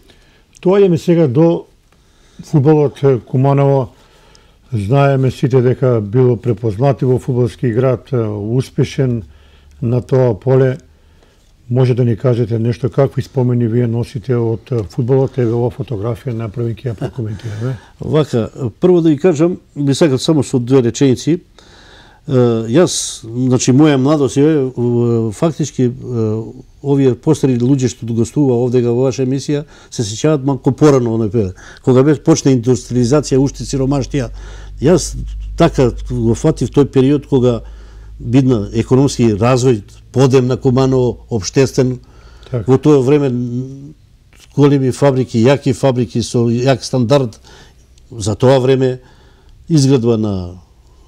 Доаѓаме сега до фудбалот Куманово. Знаеме сите дека било препознати во фудбалски град, успешен на тоа поле. Може да ни кажете нешто, какви спомени вие носите од фудбалот, еве ова фотографија направи ќе ја прокоментираме. Вака, прво да ви кажам, би сакал само со две реченици. Јас, значи, моја младост е, фактички, овие постари луѓе што гостува овдега во ваша емисија, се сеќаваат малку порано оној период. Кога беше почна индустриализација, уште сиромаштија, јас така го фатив тој период кога видно економски развој, подем на Куманово, обштествен. Так. Во тоа време големи фабрики, јаки фабрики со јак стандард. За тоа време изградба на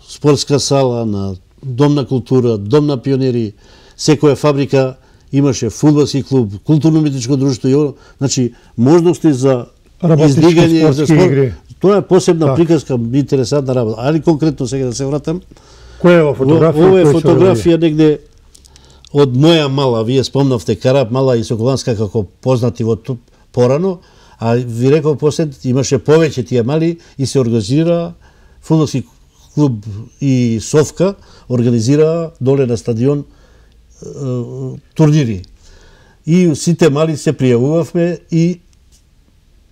спортска сала, на дом на култура, дом на пионери, секоја фабрика имаше фудбалски клуб, културно-уметничко друштво и значи можности за издигање за спорт. Игри. Тоа е посебна приказка, интересантна работа. Али конкретно сега да се вратам. Која е ова фотографија? Ова е фотографија негде од моја мала, вие спомнавте Карап Мала и Соколанска како познати во порано, а ви реков после имаше повеќе тие мали и се организира фудбалски клуб и Совка организира доле на стадион турнири. И сите мали се пријавувавме и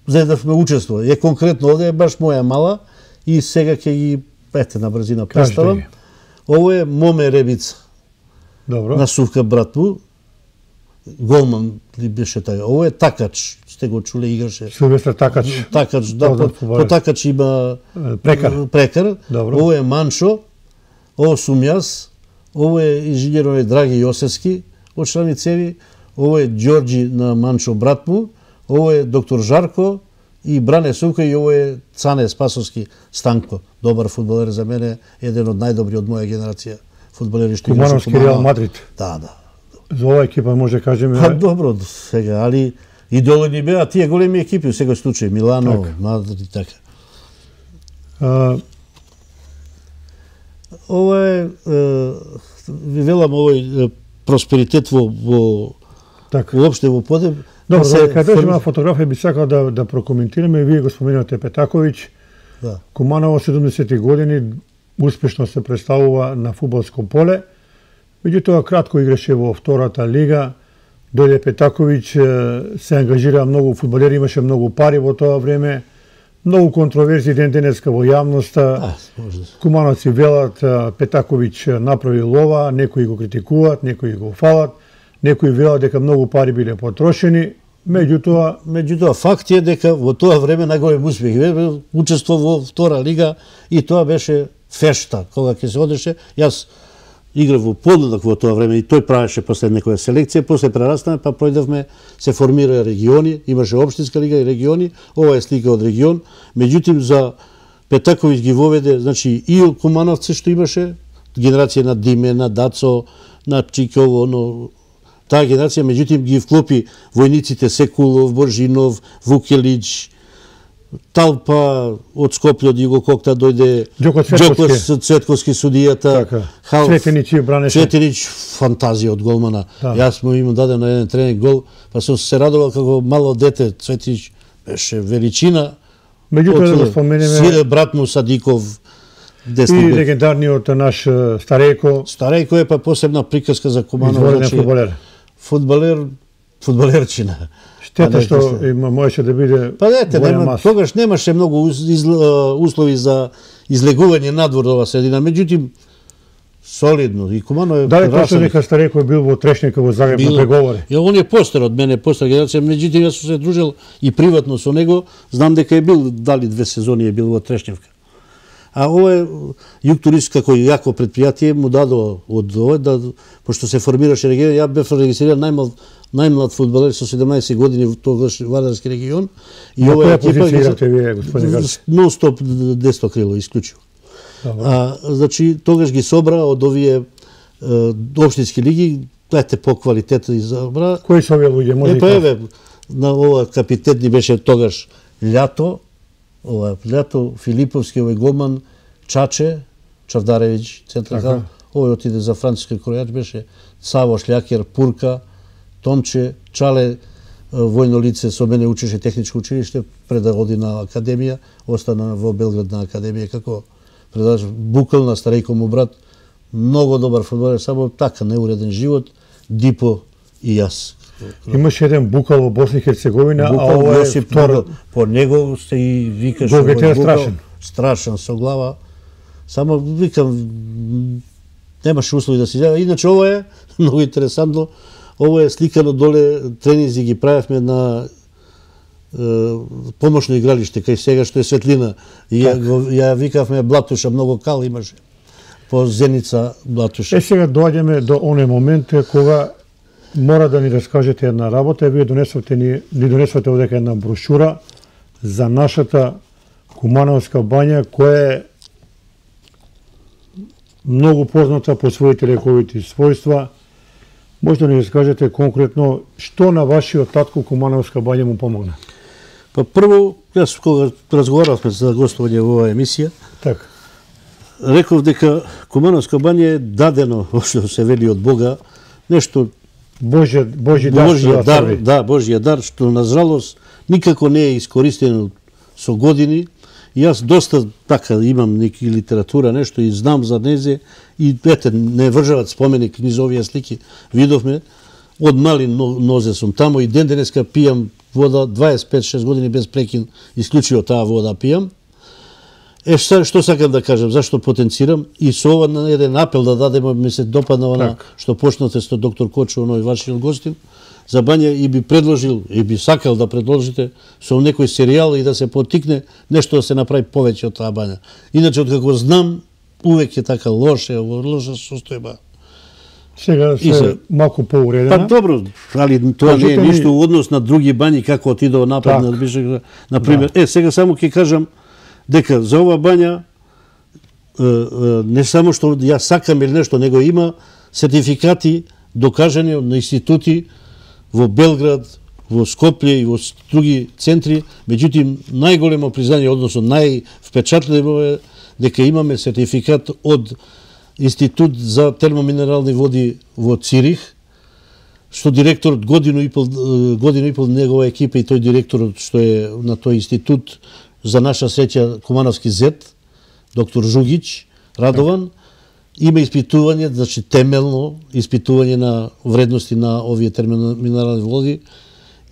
заедавме учество. Е конкретно овде е баш моја мала и сега ќе ги на брзина представам. Ово е Моме Ребица. Добро. На Сувка брат му. Голман ли беше тај. Ово е Такач. Сте го чуле, играше. Силвестар Такач. Такач, да. По Такач има Прекар. Добро. Ово е Маншо. Ово сум јас. Ово е инженерот Драги Јосевски од Шланицеви. Ово е Ѓорџи на Маншо брат му. Ово е доктор Жарко и Бране Сувка и ово е Цане Спасовски Станко. Добар фудбалер за мене, еден од најдобри од моја генерација фудбалери што играше Кумановски Реал Мадрид. Да. За оваа екипа може да кажеме. Па добро сега, али идоли ни беа тие големи екипи во секој случај, Милано, Мадрид и така. Ова е ви велам овој просперитет во уопште во Подем. Добро, кога дојдеме на фотографија би сакал да прокоментираме, вие го споменувате Петаковиќ. Да. Куманово 70-ти години успешно се представува на фудбалско поле. Меѓутоа кратко играше во втората лига. Дојде Петаковиќ, се ангажира многу фудбалери, имаше многу пари во тоа време. Многу контроверзии ден денеска во јавноста. Кумановци велат Петаковиќ направи лова, некои го критикуваат, некои го фалат, некои велат дека многу пари биле потрошени. Меѓутоа факт е дека во тоа време најголем успех учество во втора лига и тоа беше фешта кога ќе се одеше. Јас играв во Подленок во тоа време и тој правеше после некоја селекција, после прерастаме па пројдовме, се формира региони, имаше општинска лига и региони, ова е слика од регион. Меѓутоа за Петаковиќ ги воведе, значи и Кумановци што имаше, генерација на Диме, на Дацо, на Чиково, но таа генерација, меѓутоа ги вклопи војниците Секулов, Боржинов, Вукелич, Талпа од Скопје, од Југококта дојде Ѓоко Цветковски судијата, Цветенич и бранеше. Цветенич фантазија од голмана. Јас му им дадем на еден тренинг гол, па сум се радувал како мало дете. Цветенич беше величина. Меѓутоа да го споменеме брат му Садиков, и легендарниот наш Старејко. Старејко е па посебна приказка за Куманово. Изворен фудбалер. Фудбалерчина. Штета што можеше да биде тогаш немаше многу услови за излегување надвор ова средина, меѓутоа солидно и Куманово е. Дали точно дека Старејко бил во Трешника во Загреб на преговори? Он е постар од мене, постар генерација, меѓутоа јас сум се дружил и приватно со него, знам дека е бил, дали 2 сезони е бил во Трешневка. А ова е Југ Турист како јако предпријатие му дадо од ова, пошто се формираше регион, ја бев регистриран најмлад фудбалер со 17 години во тогаш Вардарски регион. И ова е позиција играте вие, господин Гарци? Нон-стоп десно крило, исклучиво. Значи, тогаш ги собра од овие општински лиги, ете по квалитет избра. Кои се овие луѓе, може да кажете? На ова капитет ни беше тогаш Лято, Филиповски, овој голман, Чаче, Чавдаревиќ, централ, овој отиде за француски кројач беше, Саво Шлјакер, Пурка, Томче, Чале, војно лице, со мене учеше техничко училиште, пред да оди на академија, остана во Белград на академија, како предавач Букал на Старејко му брат, многу добар фудбалер, само така неуреден живот, Дипо и јас. Имаше еден Букал во Босна и Херцеговина, а ова е втор. По него се и викаш страшен. Страшен со глава. Само викам немаше услови да се јави. Иначе ова е многу интересантно. Ова е сликано доле, тренинзи ги правевме на помошно игралиште, кај сега што е светлина. Ја викавме Блатуша, многу кал имаше. По Зеница Блатуша. Сега доаѓаме до оној момент кога мора да ни раскажете една работа. Вие ни донесвате овдека една брошура за нашата Кумановска бања, која е многу позната по своите лековити својства. Може да ни раскажете конкретно што на вашиот татко Кумановска бања му помогна? Па прво, јас кога разговаравме за гостување во оваа емисија, така, реков дека Кумановска бања е дадено, што се вели од Бога, нешто Божји дар, да, Божји дар, што на жалост никако не е искористено со години. И јас доста така имам неки литература, нешто и знам за незе, и ете, не вржават споменик низ овие слики, видовме, од мали нозе сум тамо и ден денеска пијам вода 25-6 години без прекин, исклучиво таа вода пијам. Што сакам да кажам, зашто потенцирам и со ова на еден апел да дадеме, ми се допадна она што почнате со доктор Кочо, оној вашиот гостин, за бања и би предложил, и би сакал да предложите со некој серијал и да се потикне нешто да се направи повеќе од таа бања. Иначе, откако знам, увек е така лоша состојба. Сега се малку поуредена. Па добро, али тоа не е ништо во однос на други бањи, како отидува напред на Бишек. Например, сега само ќе кажам дека за ова бања не само што ја сакам или нешто, него има сертификати докажани на институти во Белград, во Скопје и во други центри, меѓутоа најголемо признање, односно највпечатливо е дека имаме сертификат од Институт за термоминерални води во Цирих, што директорот годину и пол негова екипа и тој директорот што е на тој институт, за наша среќа Кумановски зет, доктор Жугич Радован, има испитување, значи темелно испитување на вредности на овие термоминерални води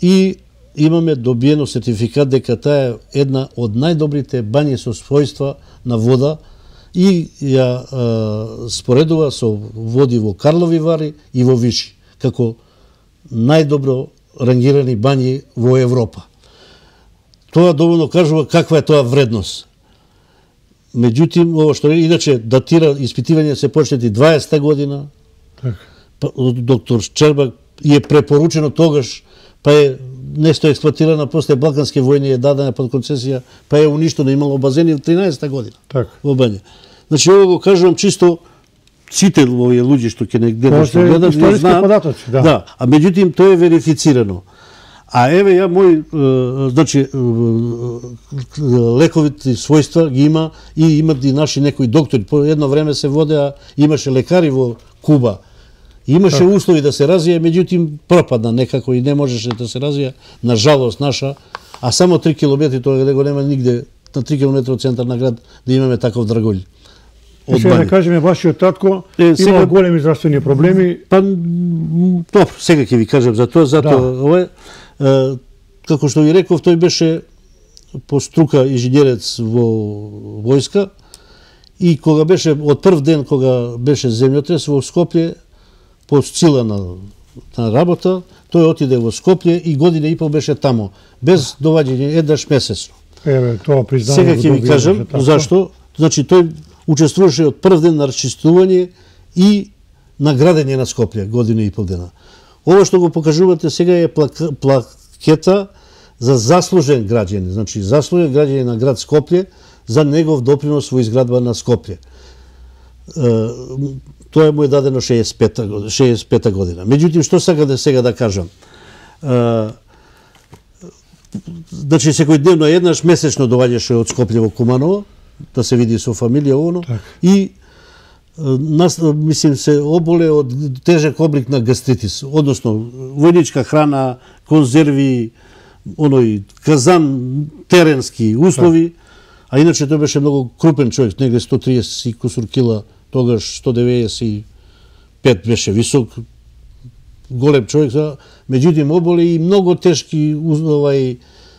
и имаме добиено сертификат дека таа е една од најдобрите бањи со својства на вода и ја споредува со води во Карлови Вари и во Виши, како најдобро рангирани бањи во Европа. Тоа доволно кажува каква е тоа вредност. Меѓутоа, ова што иначе датира испитивање се почнети 20-та година. Доктор Шчербак и е препоручено тогаш, па е нешто експлоатирана после Балкански војни, е дадена под концесија, па е уништено, имало базени во 13-та година во бања. Значи, ова го кажувам чисто сите овие луѓе што ќе негде нешто гледат, не знаат. Да, а меѓутоа тоа е верифицирано. А еве ја значи лековите својства ги има и имат и наши некои доктори. По едно време се водеа, имаше лекари во Куба. Имаше услови да се развие, меѓутоа пропадна некако и не можеше да се развие, на жалост наша, а само 3 километри тоа го нема нигде, на 3 километри од центар на град да имаме таков драголј. Сега да кажеме, вашиот татко има големи здравствени проблеми. Па, добро, сега ќе ви кажам за тоа, ова како што ви реков, тој беше по струка инженерец во војска и кога беше, од прв ден кога беше земјотрес во Скопје, по сила на работа, тој отиде во Скопје и година и пол беше тамо, без доваѓање еднаш месечно. Тоа признание. Сега ќе ви кажам зашто. Значи, тој учествуваше од прв ден на расчистување и на градење на Скопје, година и пол дена. Ова што го покажувате сега е плакета за заслужен граѓанин, значи заслужен граѓанин на град Скопје за негов допринос во изградба на Скопје. Тоа му е дадено 65-та година. Меѓутоа, што сакам сега да кажам? Значи, секојдневно еднаш месечно доваѓаше од Скопје во Куманово, да се види со фамилија оно, и мислим се оболе од тежок облик на гастритис, односно војничка храна, конзерви, оној казан, теренски услови, а иначе тој беше многу крупен човек, негде 130 и кусур кила, тогаш 195 беше висок, голем човек, меѓутоа оболе и многу тешки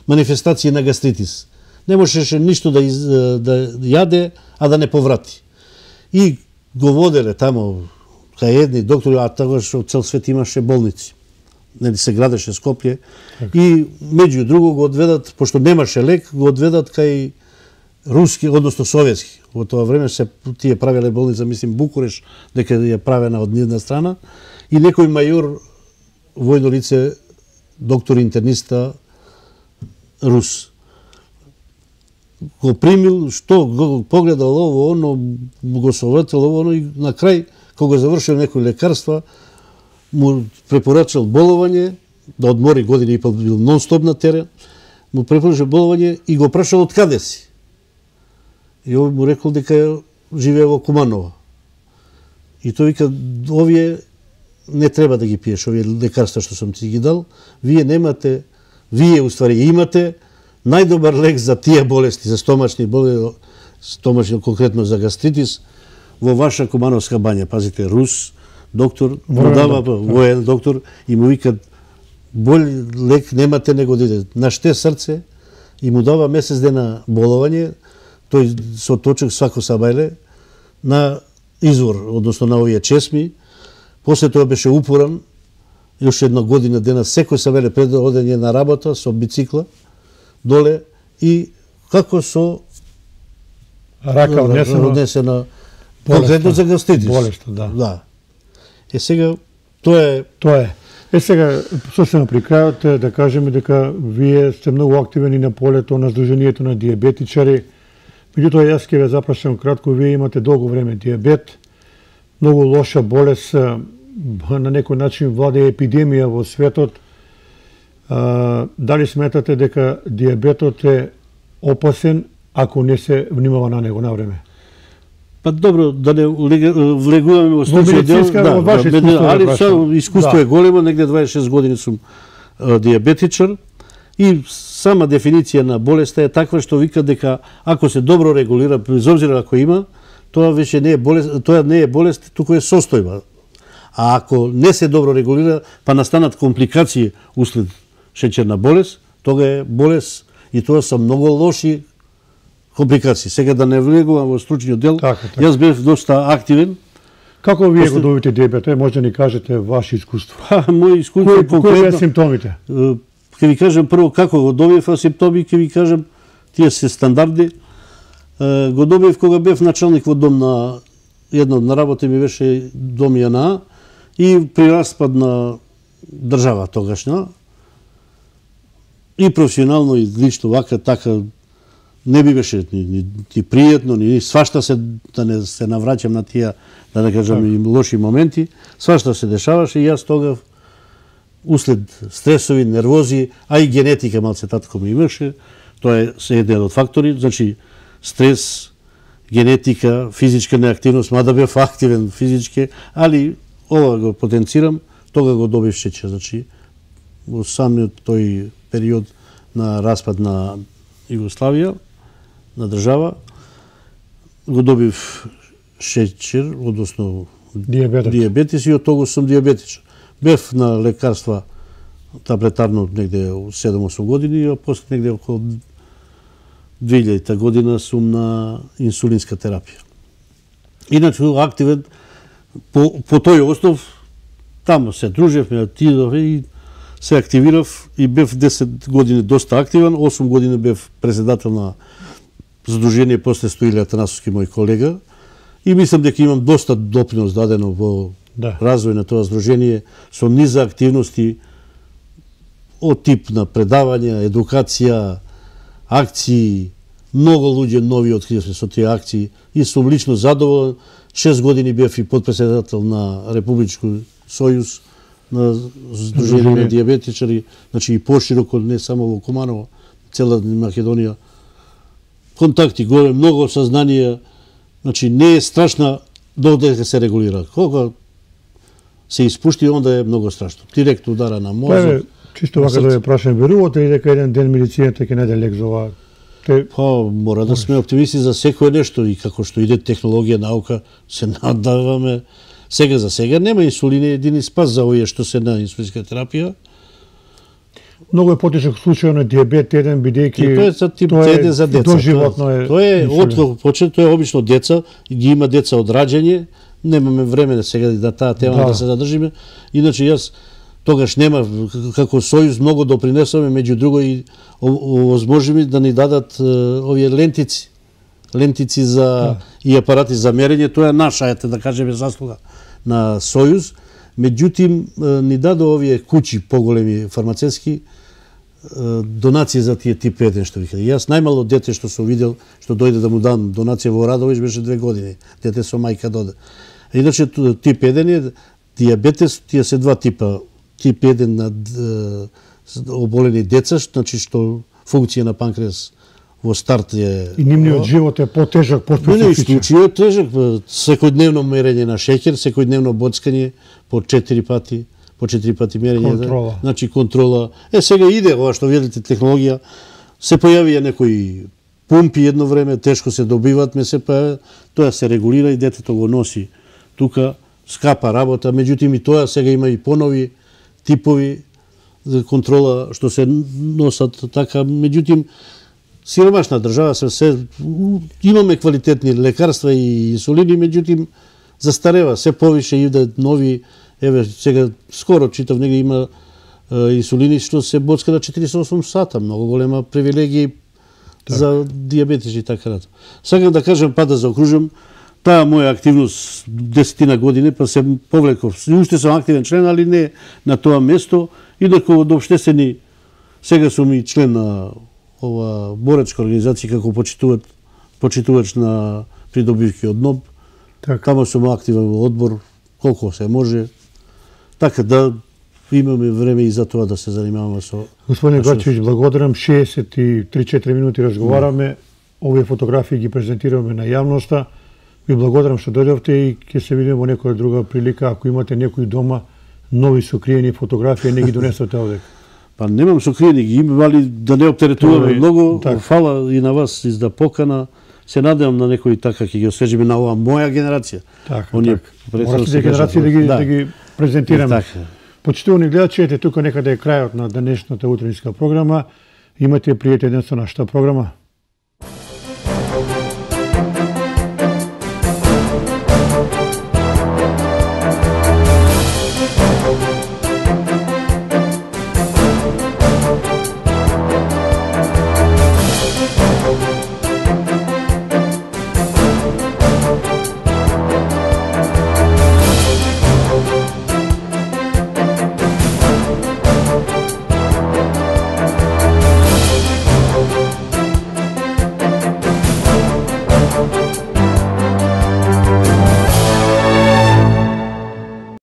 манифестации на гастритис. Не можеше ништо да јаде, а да не поврати. И го воделе тамо кај едни доктори, а тогаш од цел свет имаше болници. Нели се градеше Скопје. И меѓу друго го одведат, пошто немаше лек, го одведат кај руски, односно советски. Во тоа време се тие правеле болница, мислим Букуреш, дека ја правена од нивна страна, и некој мајор, војно лице, доктор интерниста рус. Го примил, што го погледал ово, оно, го советил ово, оно, и на крај, кога завршил некои лекарства, му препорачал боловање, да одмори години и пол, бил нон-стоп на терен, му препорачал боловање и го прашал од каде си. И овој му рекол дека живее во Куманово. И тој вика, овие не треба да ги пиеш, овие лекарства што сум ти ги дал, вие немате, вие уствари имате најдобар лек за тие болести, за стомачни болести, стомачни конкретно за гастритис, во ваша Кумановска бања. Пазите, рус, доктор, му дава воен доктор и му викат, болј лек немате него да иде. Наште срце и му дава месец дена боловање, тој со точок свако сабајле на извор, односно на овие чесми. После тоа беше упоран, još една година дена, секој сабајле пред одење на работа со бицикла доле и како со рака однесена конкретно за гастритис. Болеста, да. Сега тоа е. Сега сосема при крајот да кажеме дека вие сте многу активни на полето на Сдруженијето на диабетичари. Меѓутоа, јас ќе ве запрашам кратко, вие имате долго време диабет, многу лоша болест, на некој начин владе епидемија во светот. Дали сметате дека диабетот е опасен ако не се внимава на него на време? Па добро, да не влегуваме во случај дел, али искуство е големо, негде 26 години сум диабетичар и сама дефиниција на болеста е таква што вика дека ако се добро регулира, без обзира ако има, тоа веќе не е болест, тоа не е болест, туку е состојба. А ако не се добро регулира, па настанат компликации услед шеќерна болест, тога е болест и тоа се многу лоши компликации. Сега да не влегувам во стручниот дел, јас бев доста активен. Како вие го добивате диабет? Може да ни кажете ваше искуство? Мој искуство конкретно. Кои се симптомите? Ќе ви кажам прво како го добив симптоми, ќе ви кажам тие се стандарди. Го добив кога бев началник во дом на една на работа ми беше дом ЈНА и при распад на држава тогашна и професионално и лично вака така не би беше ни пријатно, ни свашта се, да не се навраќам на тие, да не кажам и лоши моменти, свашта се дешаваше и јас тогав услед стресови, нервози, а и генетика малце татко ми имаше, тоа е еден од фактори, значи стрес, генетика, физичка неактивност, мада бев активен физички, али ова го потенцирам, тога го добив шеќер, значи во самиот тој период на распад на Југославија, на држава, го добив шеќер, односно диабетис и од тога сум диабетичар. Бев на лекарства таблетарно негде 7-8 години, а после негде околу 2000 година сум на инсулинска терапија. Иначе активен по тој основ, таму се дружевме, отидовме и се активирав и бев 10 години доста активен, 8 години бев председател на Сдружение после Стоиле Атанасовски, мој колега, и мислам дека имам доста допринос дадено во развој на тоа Сдружение со низа активности од тип на предавања, едукација, акции, многу луѓе нови откривме со тие акции и сум лично задоволен. 6 години бев и подпредседател на Републички сојуз на Сдружение на диабетичари, значи и пошироко, не само во Куманово, цела Македонија. Контакти голем, многу сознание, значи не е страшна додека се регулира. Кога се испушти, онда е многу страшно. Директно удара на мозок. Чисто вака да ве прашам, верувате ли дека еден ден медицината ќе најде лек за ова? Мора да сме оптимисти за секое нешто и како што иде технологија, наука, се надаваме Сега за сега нема инсулин е едини спас за овие што се на инсулинска терапија. Многу е потежок случај на диабет 1 бидејќи тоа е за тип 1 за деца. Доживотно е. Тоа е од почет, тоа е обично деца, ги има деца од раѓање. Немаме време да сега да таа тема да се задржиме. Иначе јас тогаш нема како Сојуз многу допринесоме, меѓу друго и овозможиме да ни дадат овие лентици за и апарати за мерење. Тоа е наша, да кажеме, заслуга на Сојуз. Меѓутим, ни даде овие куќи поголеми фармацевски донации за тие тип 1, што вика. Јас најмало дете што сум видел, што дојде да му дам донација во Радовиш, беше 2 години. Дете со мајка доде. Иначе тип 1 е диабетес, тие се два типа. Тип 1 на оболени деца, значи што функција на панкреас во старт е... И нивниот живот е потежак, поспецифичен. Не, случајот е тежак. Секојдневно мерење на шеќер, секојдневно боцкање по 4 пати мерење. Контрола. Значи контрола. Сега иде ова што видите технологија. Се појавија некои пумпи едно време, тешко се добиваат, тоа се регулира и детето го носи тука, скапа работа, меѓутоа и тоа сега има и понови типови за контрола што се носат така, меѓутоа сиромашна држава се имаме квалитетни лекарства и инсулини, меѓутоа застарева, се повише иде нови, еве сега скоро читав негде има инсулини што се боцка на 48 сата, многу голема привилегија за диабетичи и така натаму. Сакам да кажам, па да заокружам, таа моја активност 10 години, па се повлеков. Уште сум активен член, али не на тоа место. Инаку од општествени, сега сум и член на ова борачка организација како почитувач на придобивки од НОБ. Тамо сум активен во одбор, колку се може. Така да имаме време и за тоа да се занимаваме со... Господин Гачевиќ, благодарам. 63-4 минути разговараме. Овие фотографии ги презентираме на јавноста. Ви благодарам што дојдовте и ќе се видиме во некоја друга прилика. Ако имате некои дома нови сокриени фотографии, не ги донесете овде. Па немам сокриени, ги имам, али да не оптеретуваме многу. Фала и на вас изда покана. Се надевам на некои така ќе ги освежиме на оваа моја генерација. Морате генерации да ги презентираме. Почитувани гледачи, ете тука некаде е крајот на денешната утринска програма. Имате пријатен ден со нашата програма.